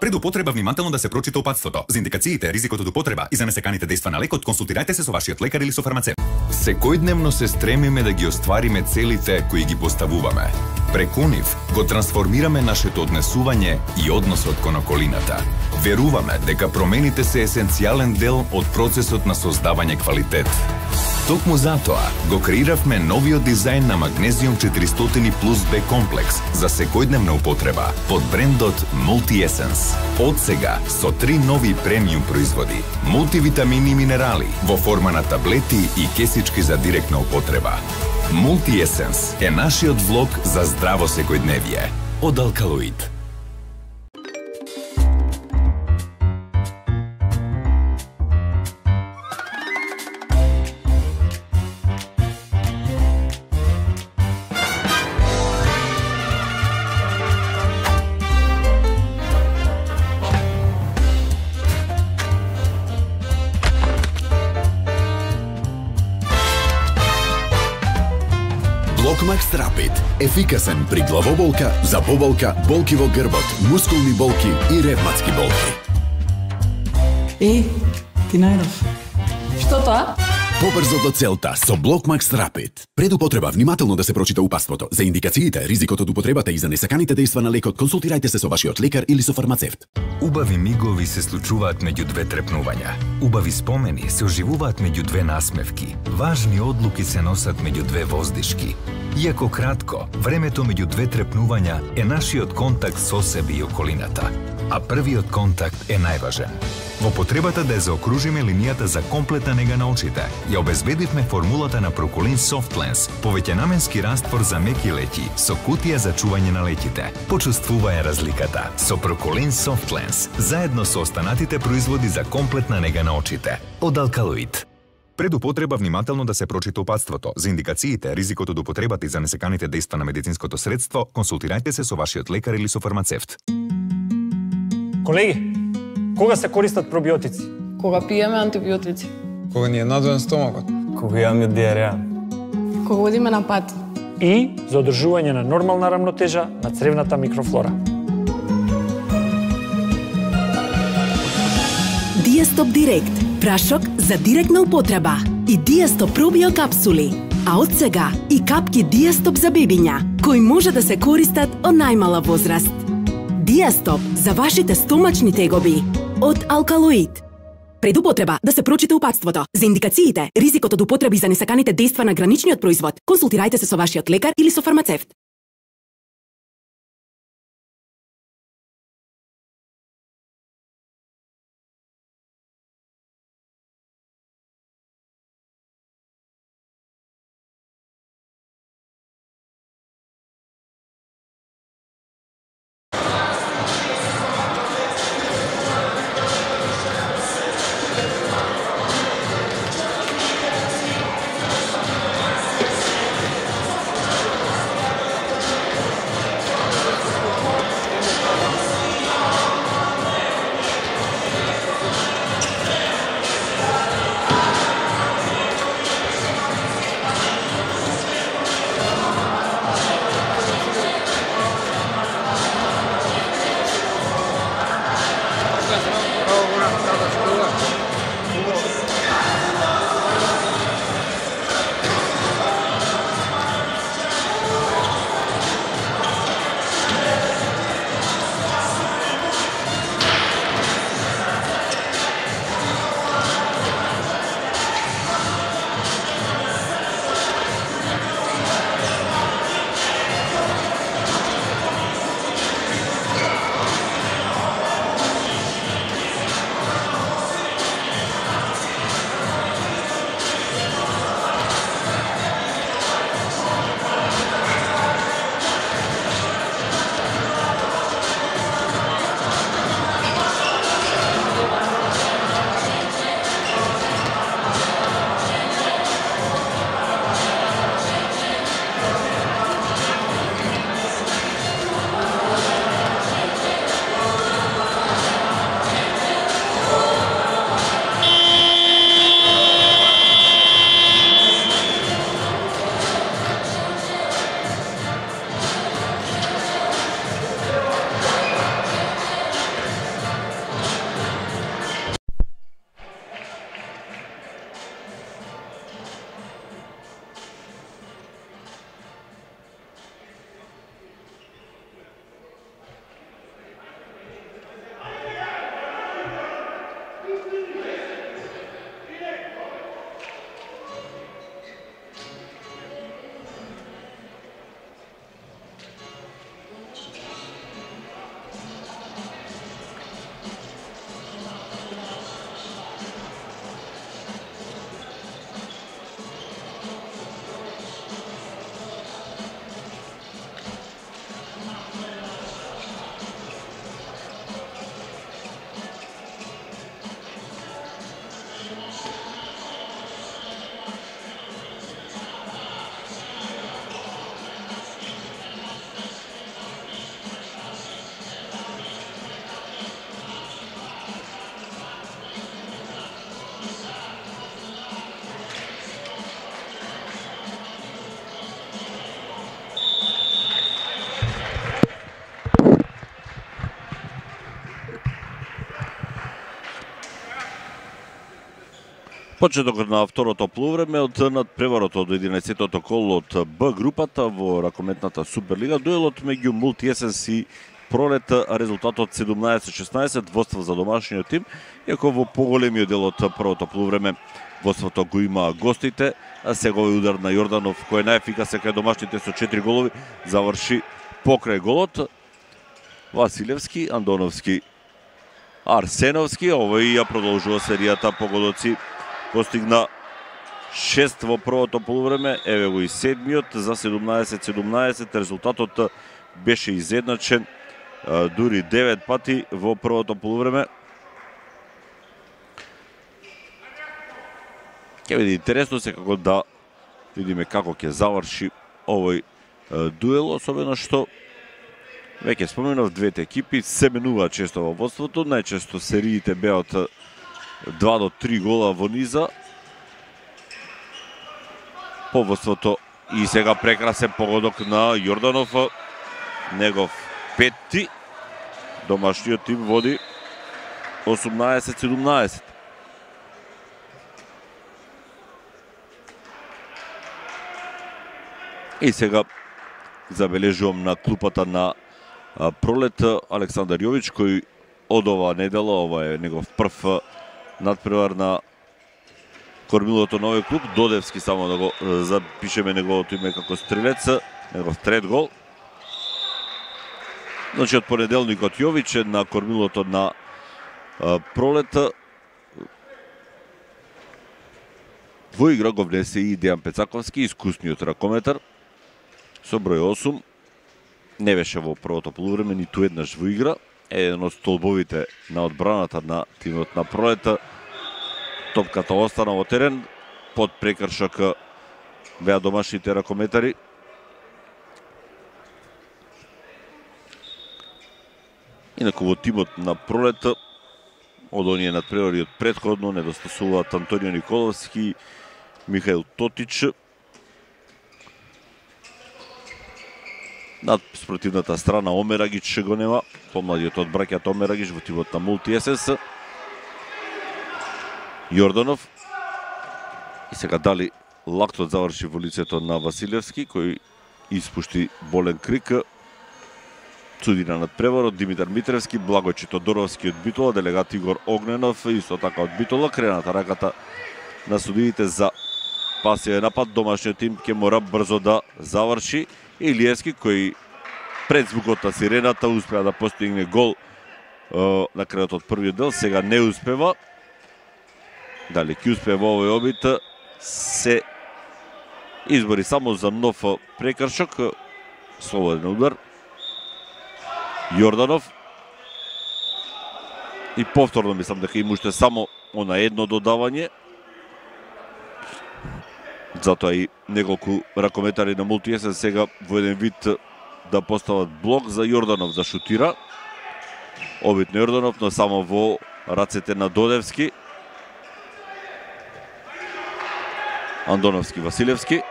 Пред употреба внимателно да се прочита упатството. За индикациите, ризикот од употреба и за несеканите дејства на лекот, консултирајте се со вашиот лекар или со фармацевт. Секојдневно се стремиме да ги оствариме целите кои ги поставуваме. Преку нив го трансформираме нашето однесување и односот кон околината. Веруваме дека промените се есенцијален дел од процесот на создавање квалитет. Токму затоа го креиравме новиот дизајн на Магнезиум четиристотини плюс Б комплекс за секојдневна употреба под брендот Мултиесенс. Од сега со три нови премиум производи, мултивитамини и минерали во форма на таблети и кесички за директна употреба. Мултиесенс е нашиот влог за здраво секојдневие од Алкалоид. Блокмакс Рапид. Ефикасен при главоболка, заболка, болки во грбот, мускулни болки и ревматски болки. Е, ти најдов. Што тоа? Побрзо до целта со Блокмакс Рапид. Пред употреба внимателно да се прочита упатството. За индикациите, ризикот од употребата и за несаканите дејства на лекот, консултирајте се со вашиот лекар или со фармацевт. Убави мигови се случуваат меѓу две трепнувања. Убави спомени се оживуваат меѓу две насмевки. Важни одлуки се носат меѓу две воздишки. Иако кратко, времето меѓу две трепнувања е нашиот контакт со себе и околината. А првиот контакт е најважен. Во потребата да ја заокружиме линијата за комплетна нега на очите, ја обезбедивме формулата на Проколин Софтленс, повеќенаменски раствор за меки леќи со кутија за чување на леќите. Почувствувај разликата со Проколин Софтленс, заедно со останатите производи за комплетна нега на очите од Алкалоид. Пред употреба внимателно да се прочита упатството. За индикациите, ризикот од употребата и за несеканите дејства на медицинското средство, консултирајте се со вашиот лекар или со фармацевт. Колеги, кога се користат пробиотици? Кога пиеме антибиотици. Кога ни е надоен стомакот. Кога имаме диареја. Кога одиме на пат. И за одржување на нормална рамнотежа на цревната микрофлора. Диастоп Директ, прашок за директна употреба и Диастоп пробио капсули, а од сега и капки Диастоп за бебиња, кои може да се користат од најмала возраст. Диастоп за вашите стомачни тегоби од Алкалоид. Пред употреба да се прочита упатството. За индикациите, ризикот од употреба и за несаканите дејства на граничниот производ, консултирајте се со вашиот лекар или со фармацевт. Почетокот на второто полувреме од надпреварот од единаесеттото коло од Б групата во ракометната Суперлига, дуелот меѓу Мултиесенс и Пролет, резултатот седумнаесет шеснаесет воство за домашниот тим, иако во поголемиот дел од првото полувреме воството го има гостите, а сеговиот удар на Јорданов, кој е најефикасен кај домашните со четири голови, заврши покрај голот. Василевски, Андоновски, Арсеновски, овој ја продолжува серијата погодоци. Постигна шест во првото полувреме, еве го и седмиот за седумнаесет седумнаесет. Резултатот беше изедначен дури девет пати во првото полувреме. Ќе биде интересно секако да видиме како ќе заврши овој дуел, особено што веќе споменав, двете екипи се менуваат често во водството, најчесто сериите беа од два до три гола во низа по водството. И сега прекрасен погодок на Јорданов, негов петти. Домашниот тим води осумнаесет седумнаесет. И сега забележувам на клупата на Пролет Александар Јович, кој од оваа недела, ова е негов прв надпревар на кормилото на овој клуб. Додевски, само да го запишеме неговото име како стрелец, негов трет гол. Значи од понеделникот Јович на кормилото на а, пролета. Во игра го внесе и Дејан Пецаковски, искусниот ракометар, со број осум. Не беше во првото полувреме, ниту еднаш во игра. Еден од столбовите на одбраната на тимот на пролета. Топката остана во терен, под прекршок беа домашните ракометари. Инаку во тимот на пролета, од оние надпревари од претходно, недостасуваат Антонио Николовски, Михаил Тотич. Над спротивната страна Омерагич го нема, помладиот од браќата Омерагич во тимот на Мултиесенс. Јорданов. И сега дали лактот заврши во лицето на Василевски, кој испушти болен крик. Цудина над преварот, Димитар Митревски, Благој Тодоровски од Битола, делегат Игор Огненов, исто така од Битола, крената раката на судиите за пасивен напад. Домашниот тим ќе мора брзо да заврши. Илиевски, кој пред звукот на сирената успеа да постигне гол е, на крајот од првиот дел, сега не успева. Дали ќе успее во овој обид, се избори само за нов прекршок, слободен удар. Јорданов. И повторно мислам дека им уште само она едно додавање. Затоа и неколку ракометари на Мултиесен сега во еден вид да постават блок за Јорданов да шутира. Обид на Јорданов, но само во рацете на Додевски. Андоновски, Василевски.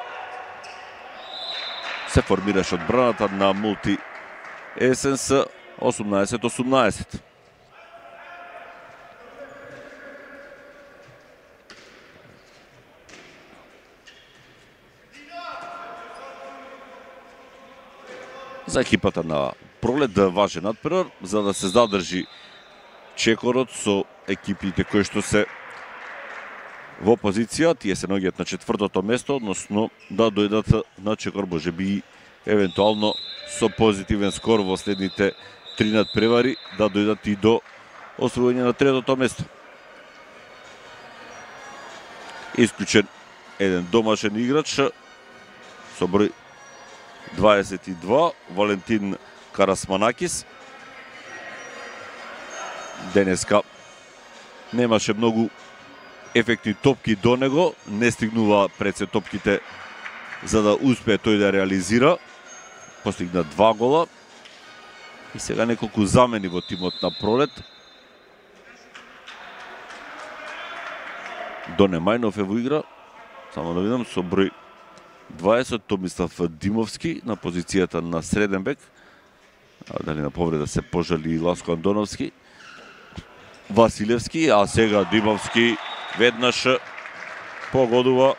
Се формираше одбраната на Мултиесенс осумнаесет осумнаесет. За екипата на Пролет да важен надпревар, за да се задржи чекорот со екипите кои што се во позиција, тие се наоѓаат на четвртото место, односно да дојдат на чекор, може би евентуално со позитивен скор во следните три надпревари, да дојдат и до освојување на третото место. Исклучен еден домашен играч со број дваесет и два, Валентин Карасманакис. Денеска немаше многу ефектни топки до него, не стигнува пред се топките за да успее тој да реализира. Постигна два гола. И сега неколку замени во тимот на Пролет. Доне Мајнов е во игра. Само да видам, со број дваесет, Томислав Димовски на позицијата на среден бек. А дали на повреда се пожали Ласко Андоновски. Василевски, а сега Димовски веднаш погодува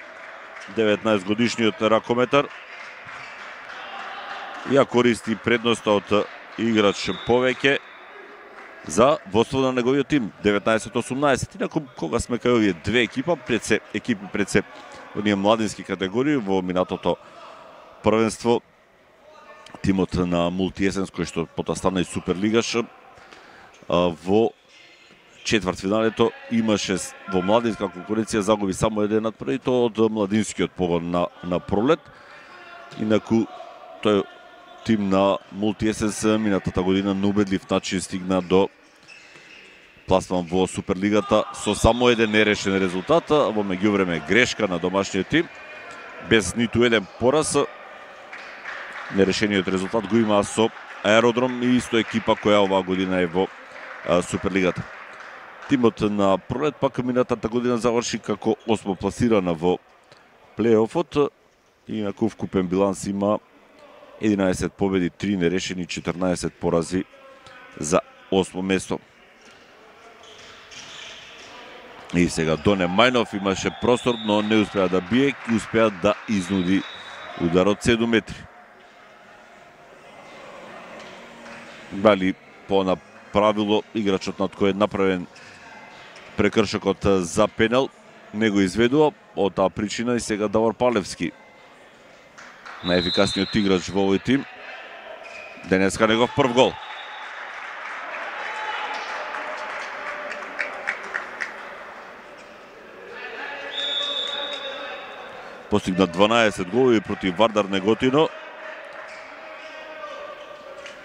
деветнаесет годишниот ракометар. Ја користи предноста од играч повеќе за водство на неговиот тим, деветнаесет осумнаесет. Инаку, кога сме кај овие две екипа, пред се, екипи пред се оние младински категории, во минатото првенство, тимот на Мултиесенс, кој што потоа стана и суперлигаш, во четвртфиналето имаше во младинска конкуренција, загуби само еден надпревар, и тоа од младинскиот погон на, на Пролет. Инаку, тој тим на Мултиесенс минатата година на убедлив начин стигна до пласман во Суперлигата со само еден нерешен резултат, во меѓувреме грешка на домашниот тим, без ниту еден пораз. Нерешениот резултат го има со Аеродром и исто екипа која оваа година е во Суперлигата. Тимот на Пролет пак минатата година заврши како осмо пласирана во плейофот, инаку вкупен биланс има единаесет победи, три нерешени, четрнаесет порази за осмо место. И сега Доне Мајнов имаше простор, но не успеа да бие и успеа да изнуди удар од седум метри. Дали по на правило играчот над кој е направен прекршокот за пенал не го изведува, од таа причина и сега Давор Палевски, најефикасниот играч во овој тим, денеска негов прв гол. Постигна дванаесет голови против Вардар Неготино.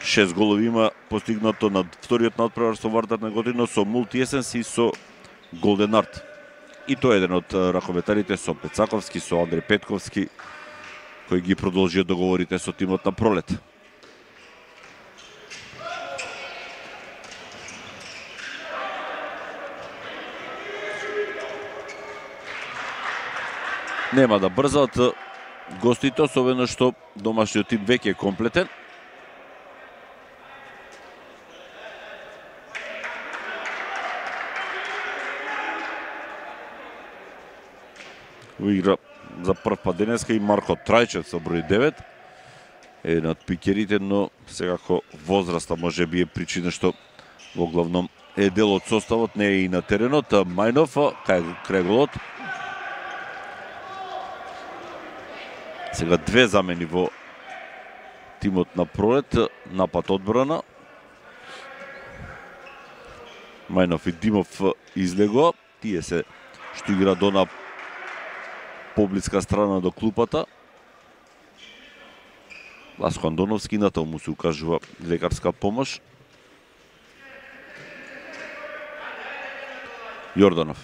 шест голови има постигнато на вториот надпревар со Вардар Неготино, со Мултиесенс и со Голден Арт. И тој е еден од ракометарите со Пецаковски, со Андреј Петковски, кои ги продолжија договорите со тимот на Пролет. Нема да брзаат гостите, особено што домашниот тим веќе е комплетен. Игра за прв пат денеска и Марко Трајчев со број девет. Еден од пикерите, но секако возраста може би е причина што во главном е дел од составот, не е и на теренот. Мајнов кај голот. Сега две замени во тимот на Пролет, напад одбрана. Мајнов и Димов излегоа, тие се што игра до на поблиска страна до клупата. Ласко Андоновски, натаму му се укажува лекарска помош. Јорданов.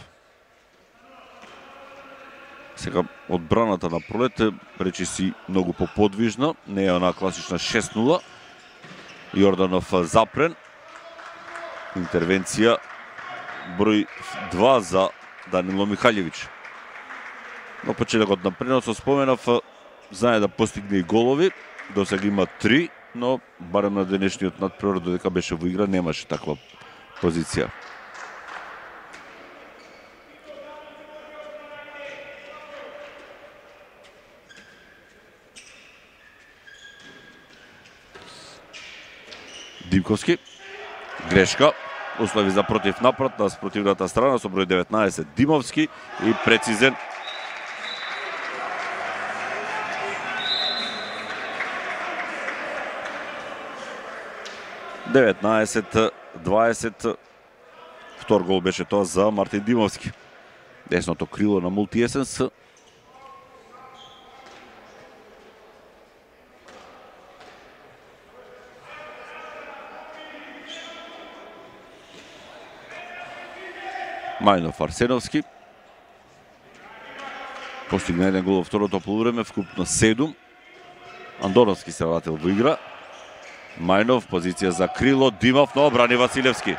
Сега одбраната на Пролет речи си многу поподвижна, не е она класична шест нула. Јорданов запрен. Интервенција број два за Данило Михаљевиќ. На почетокот на преносот споменав, знае да постигне и голови, до сега има три, но барем на денешниот надпревар додека беше во игра немаше таква позиција. Димковски, грешка, услови за против напад на спротивната страна со број деветнаесет Димовски и прецизен деветнаесет дваесет. Втор гол беше тоа за Мартин Димовски. Десното крило на Мултиесенс. Мајнов Арсеновски. Постигна еден гол во второто полувреме, вкупно седум. Андоновски се вратил во игра. Мајнов, позиција за крило, Димов, но брани Василевски.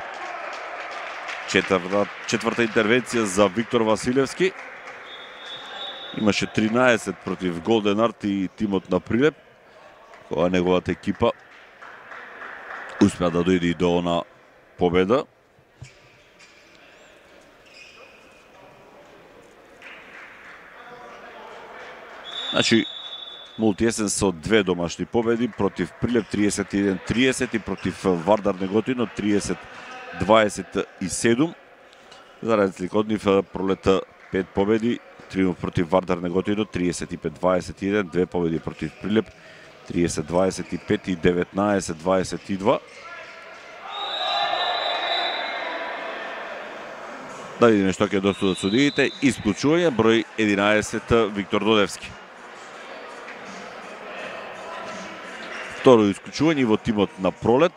Четврта, четврта интервенција за Виктор Василевски. Имаше тринаесет против Голден Арт и тимот на Прилеп, кога неговата екипа успеа да дојде и до она победа. Значи, Мултиесенс со две домашни победи против Прилеп триесет и еден триесет и против Вардар Неготино триесет дваесет и седум. За разлика од нив Пролета пет победи, триумф против Вардар Неготино триесет и пет дваесет и еден, две победи против Прилеп триесет дваесет и пет и деветнаесет дваесет и два. Да видиме што ќе досудат судиите. Исклучување број единаесет Виктор Додевски. Второ исклучување во тимот на Пролет.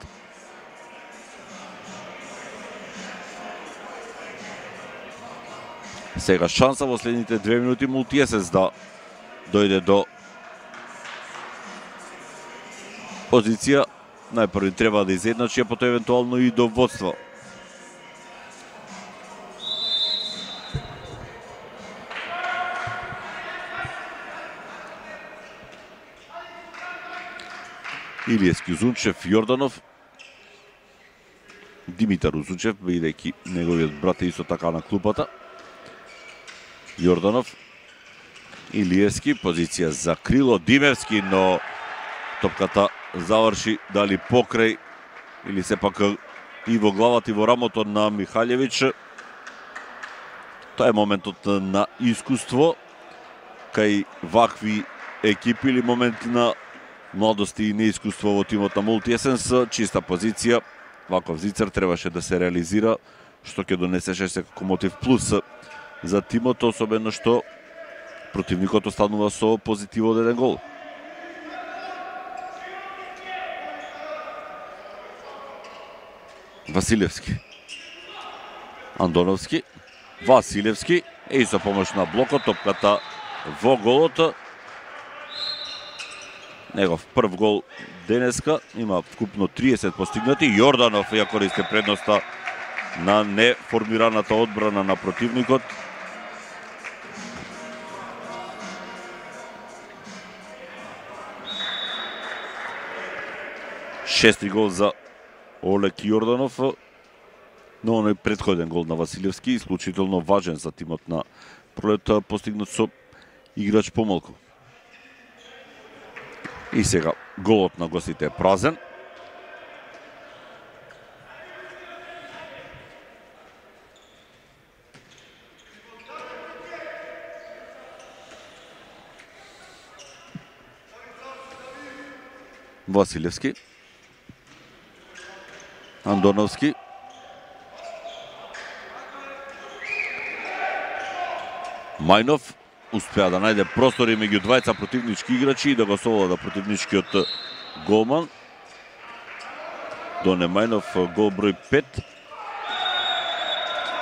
Сега шанса во следните две минути Мултиесенс да дојде до позиција. Најпрви треба да изедначи, а потоа евентуално и до водство. Илиевски, Узунчев, Јорданов, Димитар Узунчев, бидејќи неговиот брат е исто така на клупата. Јорданов, Илиевски, позиција за крило, Димевски, но топката заврши дали покрај или сепак и во главата и во рамото на Михаљевиќ. Тоа е моментот на искуство кај вакви екипи или моменти на младост и неискуство во тимот на Мултиесенс. Чиста позиција, ваков зицер требаше да се реализира, што ќе донесеше секако мотив плюс за тимот, особено што противникот останува со позитив од еден гол. Василевски, Андоновски, Василевски и со помош на блокот, топката во голот. Негов прв гол денеска, има вкупно триесет постигнати. Јорданов ја користи предноста на неформираната одбрана на противникот. Шести гол за Олег Јорданов, но оној претходен гол на Василевски, исклучително важен за тимот на Пролет, постигнат со играч помалку. И сега голот на гостите е празен. Василевски, Андоновски, Мајнов успеа да најде простори меѓу двајца противнички играчи и да го совлада противничкиот голман. Доне Мајнов, гол број пет.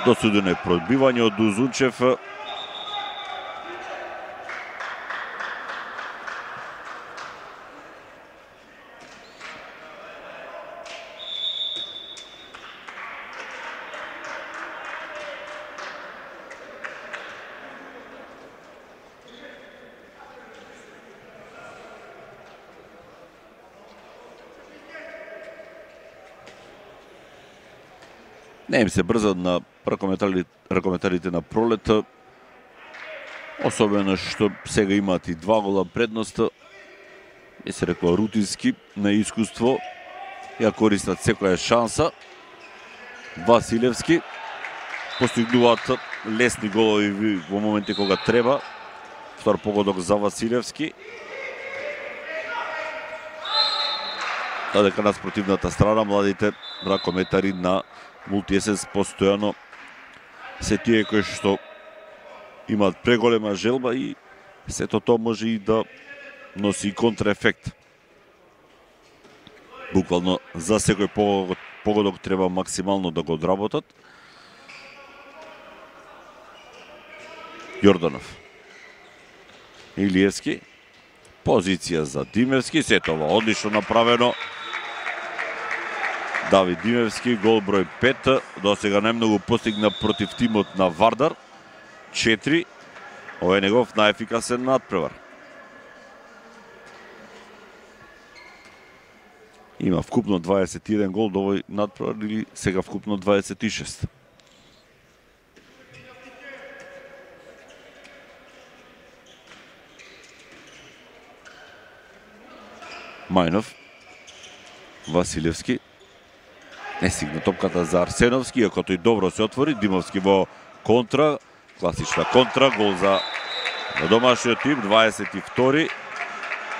Досудено е пробивање од Узунчев. Не им се брза на ракометарите на Пролет, особено што сега имаат и два гола предност. И се рекла рутински, на искуство, ја користат секоја шанса. Василевски постигнуваат лесни голови во моменти кога треба. Втор погодок за Василевски. Додека на спротивната страна младите ракометари на Мултиесенс постојано се тие кои што имаат преголема желба и сето тоа може и да носи контраефект. Буквално за секој погодок, погодок треба максимално да го одработат. Јорданов, Илиевски, позиција за Димевски, сето ова одлично направено. Давид Димевски, гол број пет, досега најмногу постигна против тимот на Вардар, четири, ова е негов најефикасен надпревар. Има вкупно дваесет и еден гол до овој надпревар или сега вкупно дваесет и шест. Мајнов, Василевски, не стигна топката за Арсеновски, иако тој добро се отвори. Димовски во контра, класична контра, гол за домашниот тим, дваесет и втори.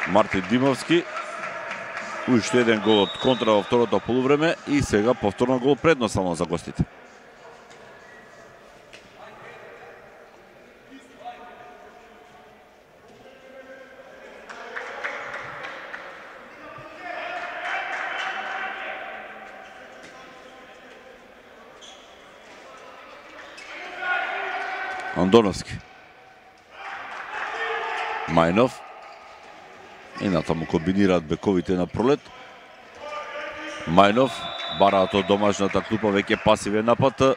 Мартин Димовски, уште еден гол од контра во второто полувреме и сега повторно гол предност само за гостите. Андоновски, Мајнов и натаму комбинираат бековите на Пролет. Мајнов бараат од домашната клупа веќе пасивен напад.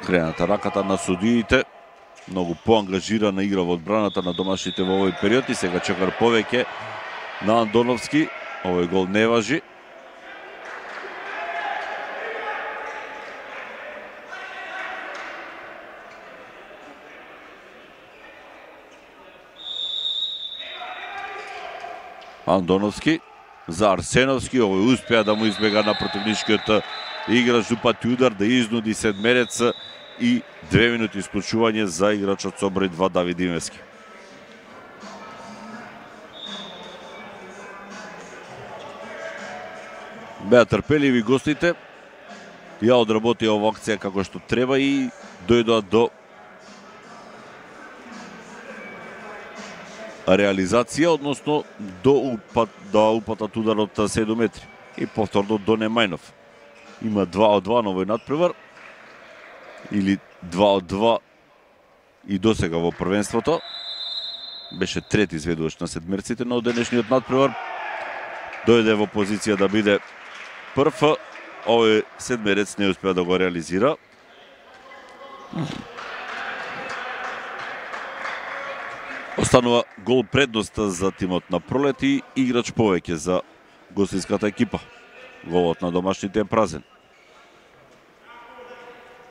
Крената раката на судиите, многу поангажирана игра во одбраната на домашните во овој период и сега чекар повеќе на Андоновски. Овој гол не важи. Андоновски за Арсеновски, овој успеа да му избега на противничкиот играч упати удар да изнуди седмерец и две минути исклучување за играчот со број два Давид Димевски. Беа трпеливи гостите, ја одработија ова акција како што треба и дојдоа до реализација, односно до упат, да упатат удар од седум метри. И повторно Доне Мајнов. Има два од два на овој надпревар, или два од два и досега во првенството. Беше трети изведувач на седмерците, но денешниот надпревар дојде во позиција да биде прв. Овој седмерец не успеа да го реализира. Останува гол предност за тимот на Пролет и играч повеќе за гостинската екипа. Голот на домашните е празен.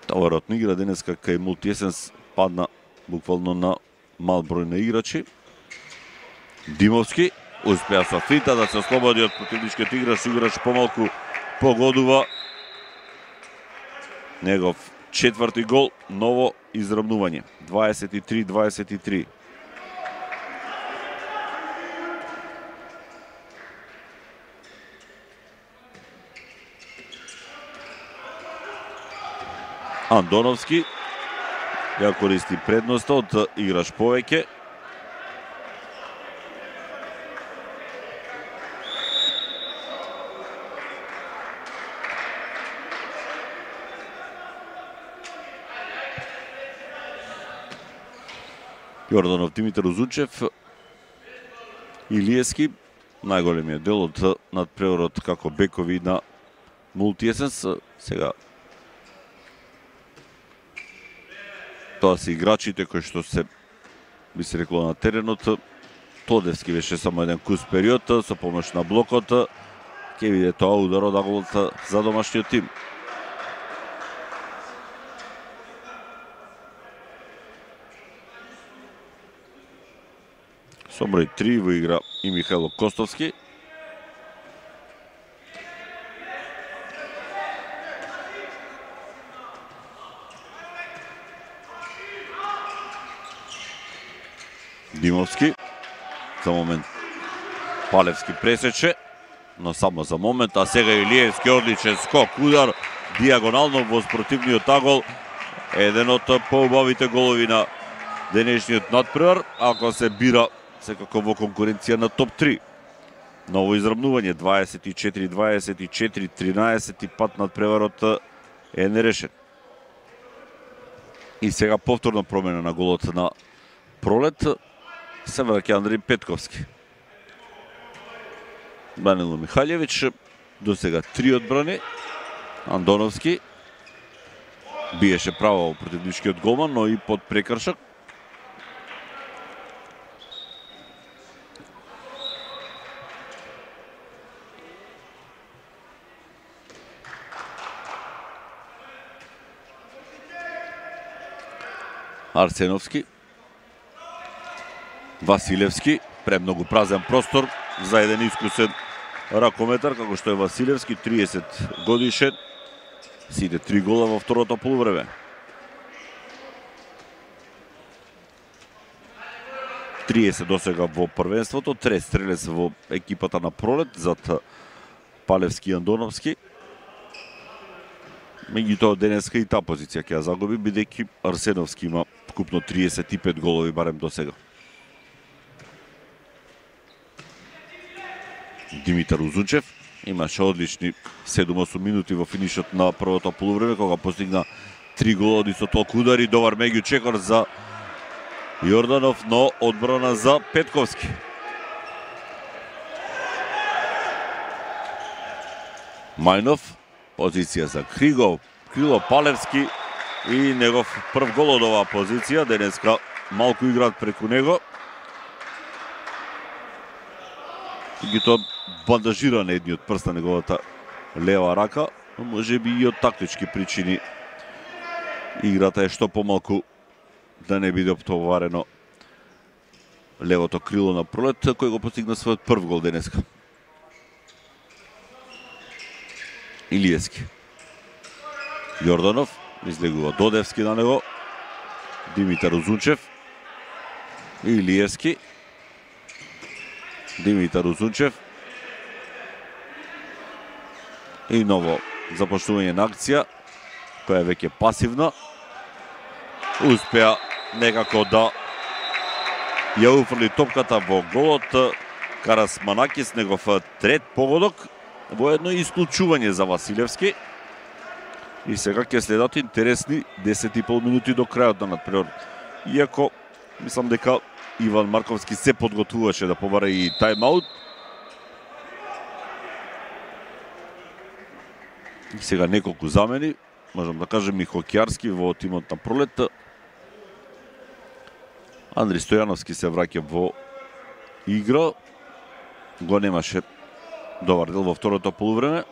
Товарот на игра денеска кај Мултиесенс падна буквално на мал број на играчи. Димовски успеа со финта да се ослободи од противничкиот играч, играч помалку погодува. Негов четврти гол, ново изравнување. дваесет и три дваесет и три. Андоновски ја користи предноста од играч повеќе. Јорданов, Димитар Узунчев, Илиевски, најголемиот дел од надпреварот како бекови на Мултиесенс. Сега тоа се играчите кои што се, би се рекло, на теренот. Тодевски беше само еден кус период со помош на блокот. Ке виде тоа удар од аголот за домашниот тим. Со број три во игра и Михајло Костовски. Димовски, за момент Палевски пресече, но само за момент, а сега Илиевски одличен скок, удар, диагонално во спротивниот агол, еден од поубавите голови на денешниот надпревар, ако се бира секако во конкуренција на топ три. Ново изравнување, дваесет и четири дваесет и четири, тринаесет и пат надпреварот е нерешен. И сега повторна промена на голот на Пролет, се враќа Андреј Петковски. Данило Михаљевич, до сега три одбрани. Андоновски биеше право во противничкиот голман, но и под прекршак. Арсеновски, Василевски, премногу празен простор за еден искусен ракометар, како што е Василевски, триесет годишен, сите три гола во второто полувреме. триесет досега во првенството, трет стрелец во екипата на Пролет, зад Палевски и Андоновски. Меѓутоа денеска и таа позиција ќе ја загуби, бидејќи Арсеновски има вкупно триесет и пет голови барем до сега. Димитар Узунчев имаше одлични седум-осум минути во финишот на првото полувреме, кога постигна три голови со толку удари, добар меѓу чекор за Јорданов, но одбрана за Петковски. Мајнов, позиција за Кригов, Крило Палевски и негов прв гол од оваа позиција. Денеска малку играат преку него. И тоа бандажира на едниот прст на неговата лева рака, но може би и од тактички причини играта е што помалку да не биде оптоварено левото крило на Пролет, кој го постигна својот прв гол денеска. Илиевски. Јорданов, излегува Додевски на него, Димитар Узунчев, Илиевски, Димитар Узунчев и ново започнување на акција, која е веќе пасивна. Успеа некако да ја уфрли топката во голот Карасманакис, негов трет погодок, во едно исклучување за Василевски. И сега ќе следат интересни десет и пол минути до крајот на надпреварот. Иако, мислам дека Иван Марковски се подготвуваше да побара и тајмаут. И сега неколку замени, можам да кажем и хокеарски во тимот на Пролет. Андри Стојановски се враќа во игра. Го немаше добар дел во второто полувреме.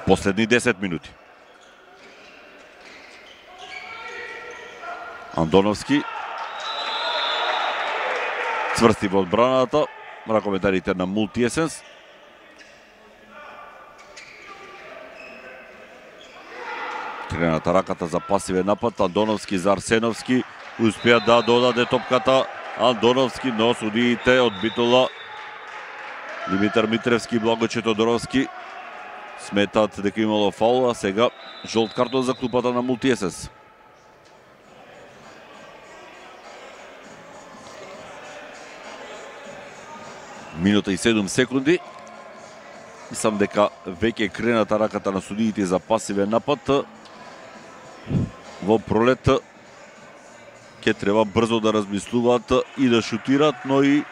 Последни десет минути. Андоновски цврсти во одбраната, ракометарите на Мултиесенс. Крената раката за пасивен напад, Андоновски за Арсеновски, успеа да додаде топката Андоновски, но судиите одбитола Димитар Митревски и Благоче Тодоровски сметаат дека имало фаул, а сега жолт картон за клупата на Мултиесенс. Минута и седум секунди. Мислам дека веќе крената раката на судиите за пасивен напад. Во Пролет ќе треба брзо да размислуваат и да шутираат, но и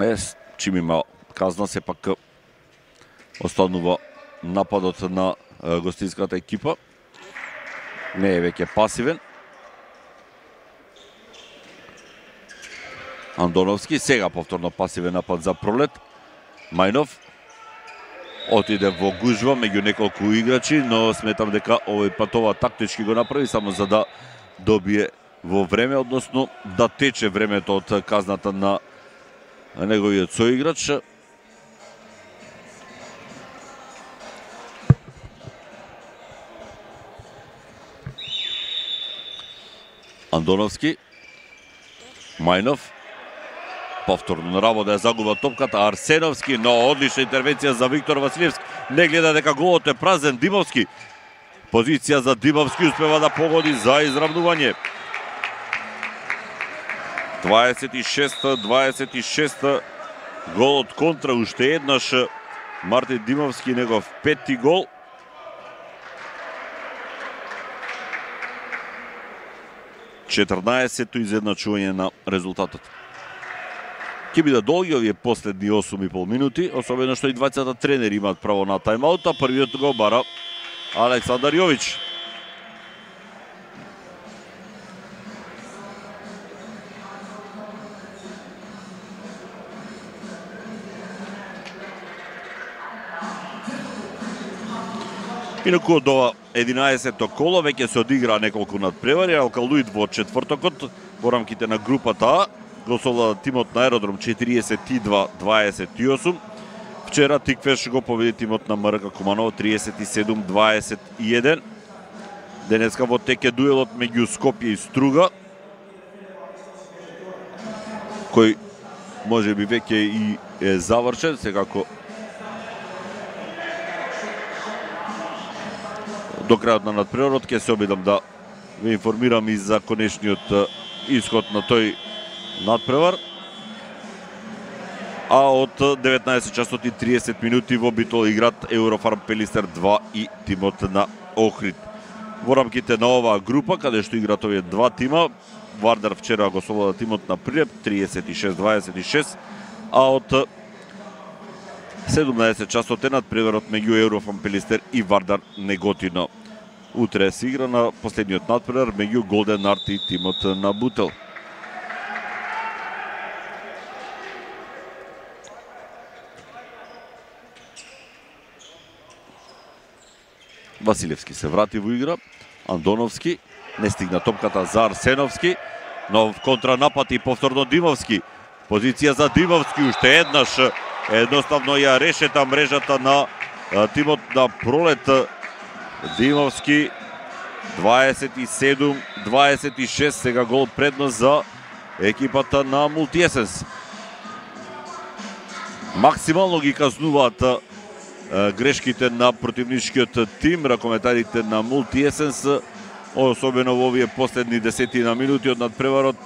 Ес, чим има казна, сепак останува нападот на гостинската екипа. Не е веќе пасивен. Андоновски, сега повторно пасивен напад за Пролет. Мајнов отиде во гужва меѓу неколку играчи, но сметам дека овој пат ова тактички го направи само за да добие во време, односно да тече времето од казната на неговиот соиграч. Андоновски, Мајнов, повторно на работа ја загуба топката, Арсеновски, но одлична интервенција за Виктор Василевски. Не гледа дека голот е празен. Димовски, позиција за Димовски, успева да погоди за изравнување. дваесет и шест дваесет и шест гол од контра, уште еднаш Мартин Димовски, негов пети гол. четрнаесетто изедначување на резултатот. Ќе биде долги овие последни осум и пол минути, особено што и двајцата тренери имаат право на тајмаут, а првиот го бара Александар Јович. Инаку од ова единаесетто коло веќе се одигра неколку надпревари. Алкалуид во четвртокот во рамките на групата А го совлада тимот на Аеродром четириесет и два дваесет и осум. Вчера Тиквеш го победи тимот на МРК Куманово триесет и седум дваесет и еден. Денеска во теке дуелот меѓу Скопје и Струга, кој може би веќе и е завршен, секако до крајот на надпреварот ќе се обидам да ве информирам и за конечниот исход на тој надпревар. А од деветнаесет часот и триесет минути во битол играт Еврофарм Пелистер два и тимот на Охрид. Во рамките на оваа група, каде што играт овие два тима, Вардар вчера го совлада тимот на Прилеп триесет и шест дваесет и шест, а од седумнаесет часот е надпреварот меѓу Еврофарм Пелистер и Вардар Неготино. Утре се игра на последниот надпревар меѓу Голден Арт и тимот на Бутел. Василевски се врати во игра. Андоновски не стигна топката за Арсеновски. Нов контранапад и повторно Димовски. Позиција за Димовски, уште еднаш едноставно ја решета мрежата на тимот на Пролет. Димовски дваесет и седум дваесет и шест, сега гол предност за екипата на Мултиесенс. Максимално ги казнуваат грешките на противничкиот тим, ракометарите на Мултиесенс, особено во овие последни десетина минути од надпреварот.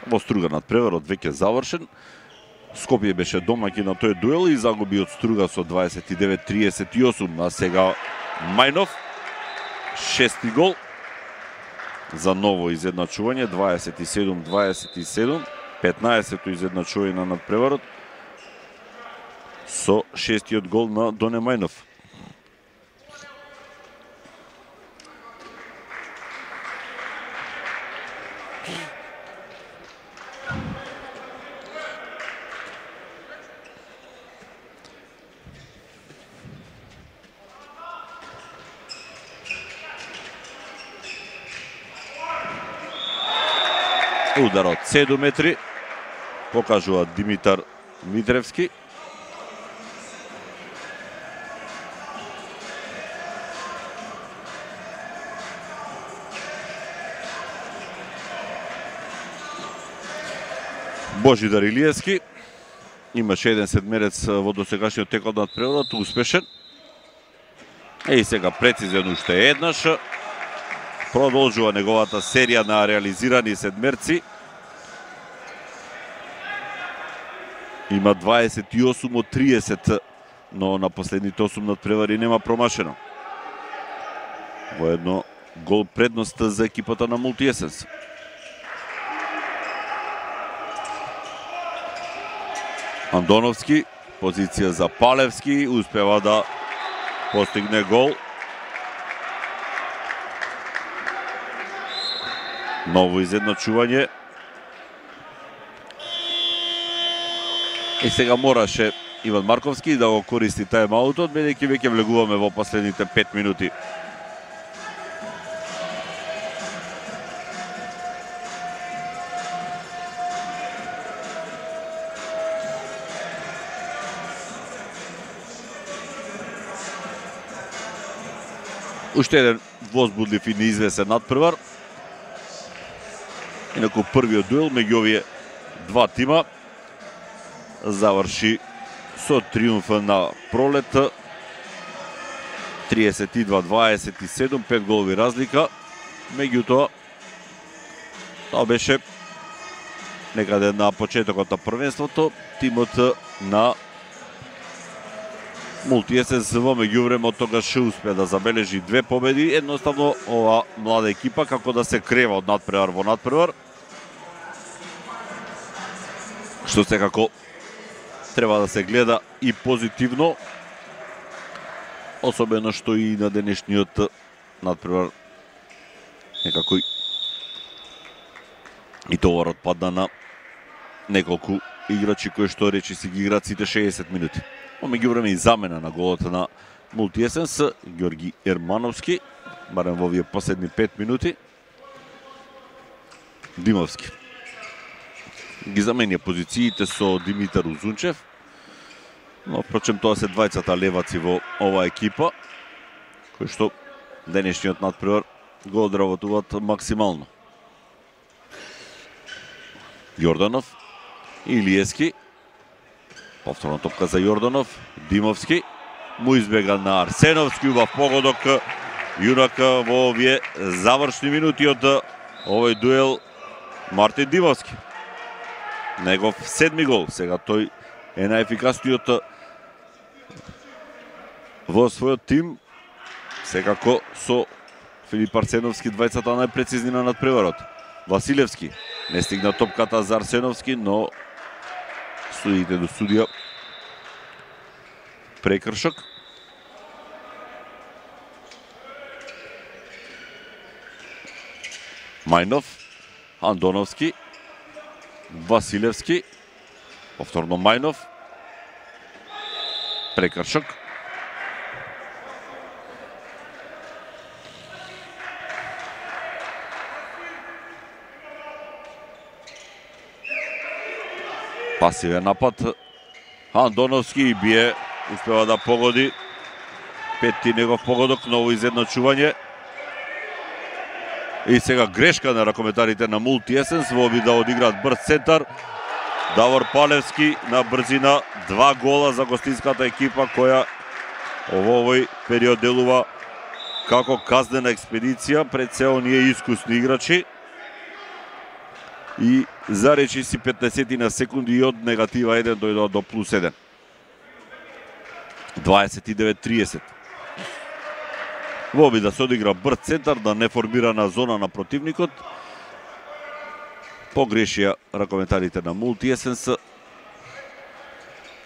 Во Струга надпреварот веќе завршен. Скопје беше домаќин на тој дуел и загуби од Струга со дваесет и девет триесет и осум, а сега Мајнов шести гол за ново изедначување, дваесет и седум дваесет и седум, петнаесетто изедначување на надпреварот со шестиот гол на Доне Мајнов. Удар од седум метри, покажува Димитар Митревски. Божидар Илиевски имаше еден седмерец во досегашниот тек од надпреварот, успешен. И сега прецизен уште еднаш. Продолжува неговата серија на реализирани седмерци. Има дваесет и осум од триесет, но на последните осум надпревари нема промашено. Во едно гол предност за екипата на Мултиесенс. Андоновски, позиција за Палевски, успева да постигне гол. Ново изедначување. И сега мораше Иван Марковски да го користи тајм-аутот, бидејќи веќе влегуваме во последните пет минути. Уште еден возбудлив и неизвесен надпревар. Инаку првиот дуел меѓу овие два тима заврши со триумф на Пролет. триесет и два дваесет и седум, пет голови разлика. Меѓутоа, тоа беше некаде на почетокот на првенството. Тимот на Мултиесенс во меѓувреме од тогаш успеа да забележи две победи. Едноставно ова млада екипа како да се крева од надпревар во надпревар. Што секако треба да се гледа и позитивно, особено што и на денешниот надпревар некако и товарот падна на неколку играчи кои што речи си ги играат сите шеесет минути. Во меѓувреме и замена на голот на Мултиесенс, Ѓорги Ермановски, барем во овие последни пет минути. Димовски ги заменја позициите со Димитар Узунчев, но впрочем тоа се двајцата леваци во оваа екипа, кои што денешниот надпревар го одработуваат максимално. Јорданов, Илиевски, повторно топка за Јорданов, Димовски, му избега на Арсеновски, убав погодок, јунак во овие завршни минути од овој дуел Мартин Димовски. Негов седми гол, сега тој е најефикасниот во својот тим, секако со Филип Арсеновски двајцата најпрецизни на надпреварот. Василевски не стигна топката за Арсеновски, но судиите до судија прекршок. Мајнов, Андоновски, Василевски, повторно Мајнов, прекршок. Пасивен напад. Андоновски бие, успева да погоди. Петти негов погодок, ново изедначување. И сега грешка на ракометарите на Мултиесенс во обид да одиграат брз центар. Давор Палевски на брзина, два гола за гостинската екипа која во овој период делува како казнена експедиција пред се оние искусни играчи. И заречи си петнаесет на секунди и од негатива еден дојдоа до плюс еден. дваесет и девет тридесет. Во обид да се одигра брз центар на неформирана зона на противникот. Погрешија ракометарите на Мултиесенс.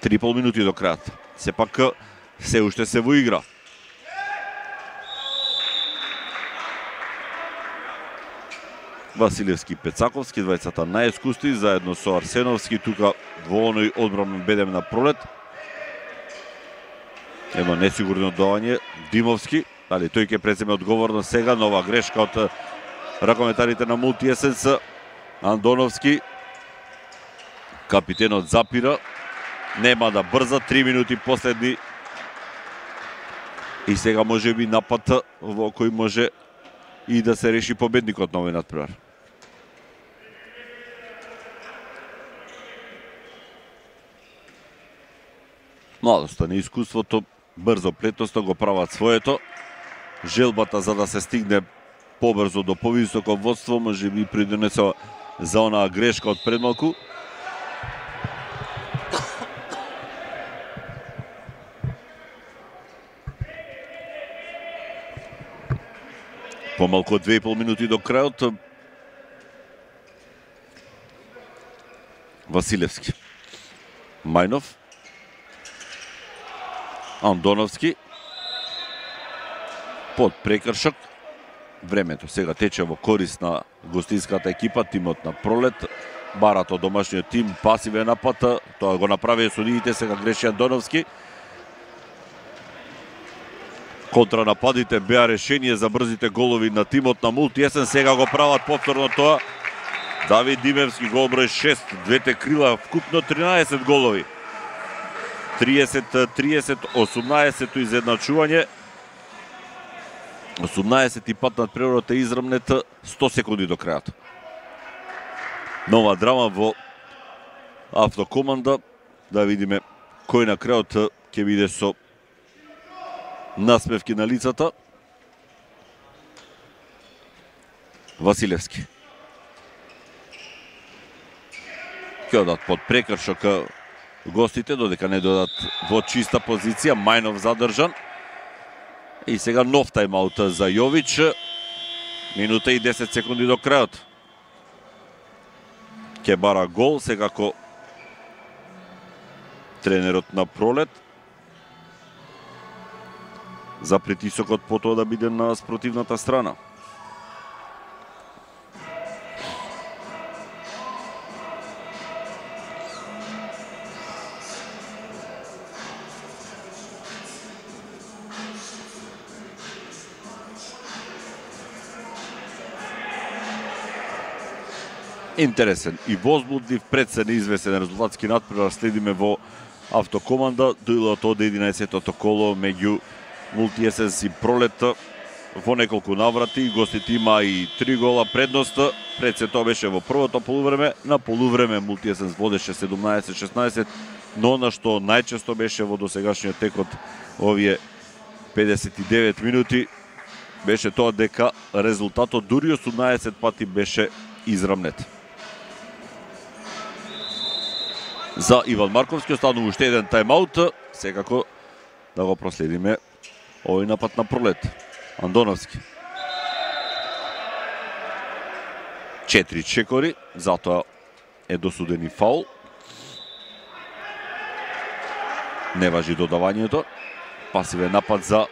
Три и пол минути до крајот. Сепак се уште се во игра. Василевски и Пецаковски, двајцата најискусни, заедно со Арсеновски, тука во оној одбранен бедем на пролет. Едно несигурно оддавање, Димовски, дали тој ќе преземе одговорност сега, нова грешка од ракометарите на Мултиесенс. Андоновски, капитенот запира, нема да брза, три минути последни. И сега може би напад во кој може и да се реши победникот на овој натпревар. Младоста, неискуството, брзо плетноста го прават своето. Желбата за да се стигне побрзо до повисоко водство, може би придонесува за онаа грешка од предмалку. Помалку од две и пол минути до крајот. Василевски. Мајнов. Андоновски. Под прекршок. Времето сега тече во корист на гостинската екипа, тимот на пролет. Барат од домашниот тим, пасивен напад, тоа го направи судиите, сега греши Андоновски. Контранападите беа решение за брзите голови на тимот на Мултиесенс, сега го прават повторно тоа. Давид Димевски гол број шест, двете крила вкупно тринаесет голови. триесет тридесет, осумнаесет изедначување. осумнаесети пат над преродот е израмнет, сто секунди до крајот. Нова драма во Автокоманда. Да видиме кој на крајот ќе биде со насмевки на лицата. Василевски. Ќе одат под прекршок гостите, додека не додат во чиста позиција. Мајнов задржан. И сега нов тајмаут за Јович. Минута и десет секунди до крајот. Ке бара гол, секако тренерот на пролет. За притисокот по тоа да биде на спротивната страна. Интересен и возбудлив, пред се неизвестен резултатски натпревар следиме во Автокоманда. Дуелот од единаесеттото коло меѓу Мултиесенс и Пролет во неколку наврати. Гостите има и три гола предност. Пред се тоа беше во првото полувреме. На полувреме Мултиесенс водеше седумнаесет шеснаесет, но на што најчесто беше во досегашниот тек од овие педесет и девет минути беше тоа дека резултатот дури осумнаесет пати беше израмнет. За Иван Марковски останува уште еден тајмаут. Секако да го проследиме овој напад на Пролет. Андоновски. Четири чекори, затоа е досуден и фаул. Не важи додавањето. Пасивен напад за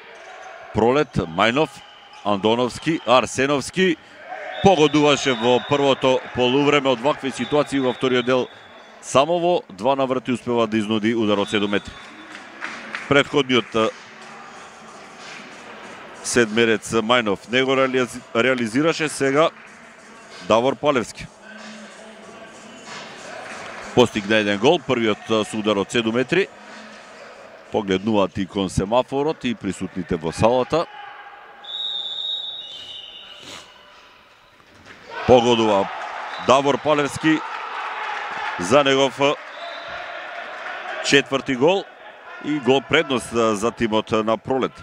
Пролет, Мајнов, Андоновски, Арсеновски. Погодуваше во првото полувреме од вакви ситуации, во вториот дел само во два наврати успева да изнуди удар од седум метри. Предходниот седмерец Мајнов не го реализираше, сега Давор Палевски постигна еден гол, првиот со удар од седум метри. Погледнуваат и кон семафорот и присутните во салата. Погодува Давор Палевски за негов четврти гол и гол предност за тимот на Пролет.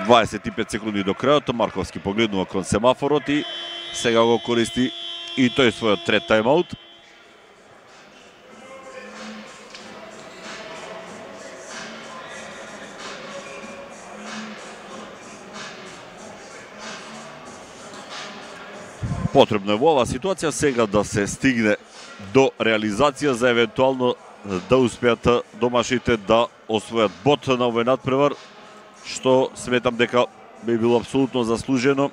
дваесет и пет секунди до крајот, Марковски погледнува кон семафорот и сега го користи и тој својот трет тајмаут. Потребно е во оваа ситуација сега да се стигне до реализација за евентуално да успеат домашните да освојат бод на овој надпревар, што сметам дека би било апсолутно заслужено,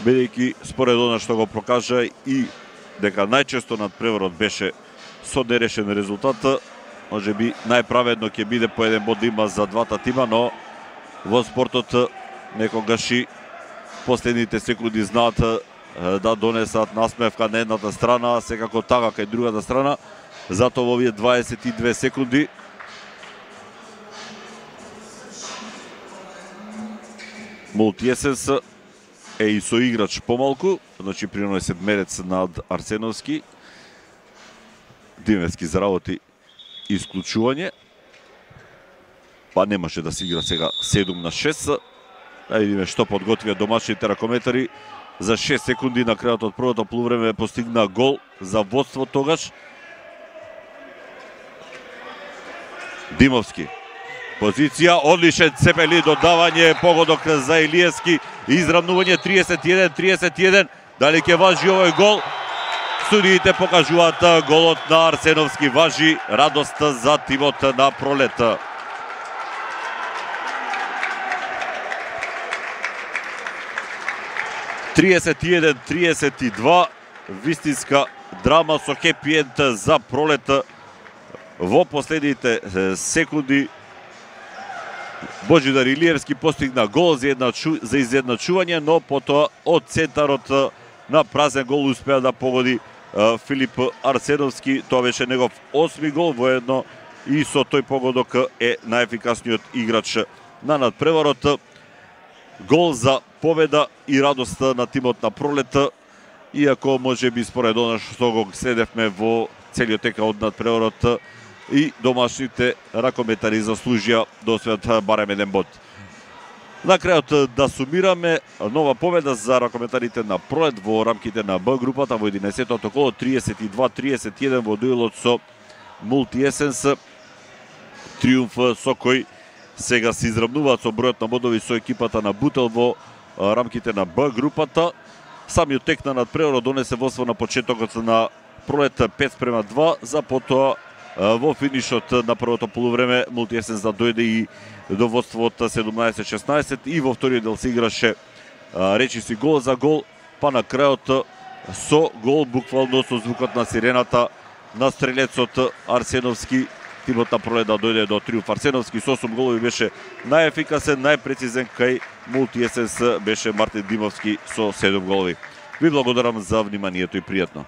бидејќи според она што го прокажа и дека најчесто надпреварот беше со нерешен резултат, може би најправедно ќе биде по еден бод има за двата тима, но во спортот некогаш и последните секунди знаат да донесат насмевка на едната страна, а секако така кај другата страна. Затоа во овие дваесет и две секунди Мултиесенс е и со играч помалку, значи приној седмерец над Арсеновски. Димевски заработи исклучување. Па немаше да се игра сега седум на шест. Да видиме што подготвија домашните ракометари. За шест секунди на крајот од првото полувреме постигна гол за водство тогаш. Димовски. Позиција, одличен Цепели, додавање, погодок за Илиевски, изравнување триесет и еден триесет и еден. Дали ќе важи овој гол? Судиите покажуваат голот на Арсеновски. Важи, радост за тимот на Пролет. триесет и еден триесет и два, вистинска драма со хепи енд за Пролет во последните секунди. Божидар Илиевски постигна гол за, едначу, за изедначување, но потоа од центарот на празен гол успеа да погоди Филип Арсеновски. Тоа беше негов осми гол, воедно и со тој погодок е најефикасниот играч на надпреварот. Гол за победа и радост на тимот на Пролет, иако може би според она што го следевме во целиот тека од надпреварот, и домашните ракометари заслужија да освојат барем еден бод. На крајот да сумираме, нова победа за ракометарите на Пролет во рамките на Б групата во единаесеттото коло, триесет и два триесет и еден во дуелот со Мултиесенс. Триумф со кој сега се изравнуваат со бројот на бодови со екипата на Бутел во рамките на Б групата. Самиот тек на надпреварот донесе водство на почетокот на Пролет пет спрема два, за потоа во финишот на првото полувреме Мултиесенс да дојде и до водство од седумнаесет шеснаесет и во вториот дел се играше речиси гол за гол, па на крајот со гол, буквално со звукот на сирената на стрелецот Арсеновски, тимот на Пролет да дојде до триумф. Арсеновски со осум голови беше најефикасен, најпрецизен, кај Мултиесенс беше Мартин Димовски со седум голови. Ви благодарам за вниманието и пријатно.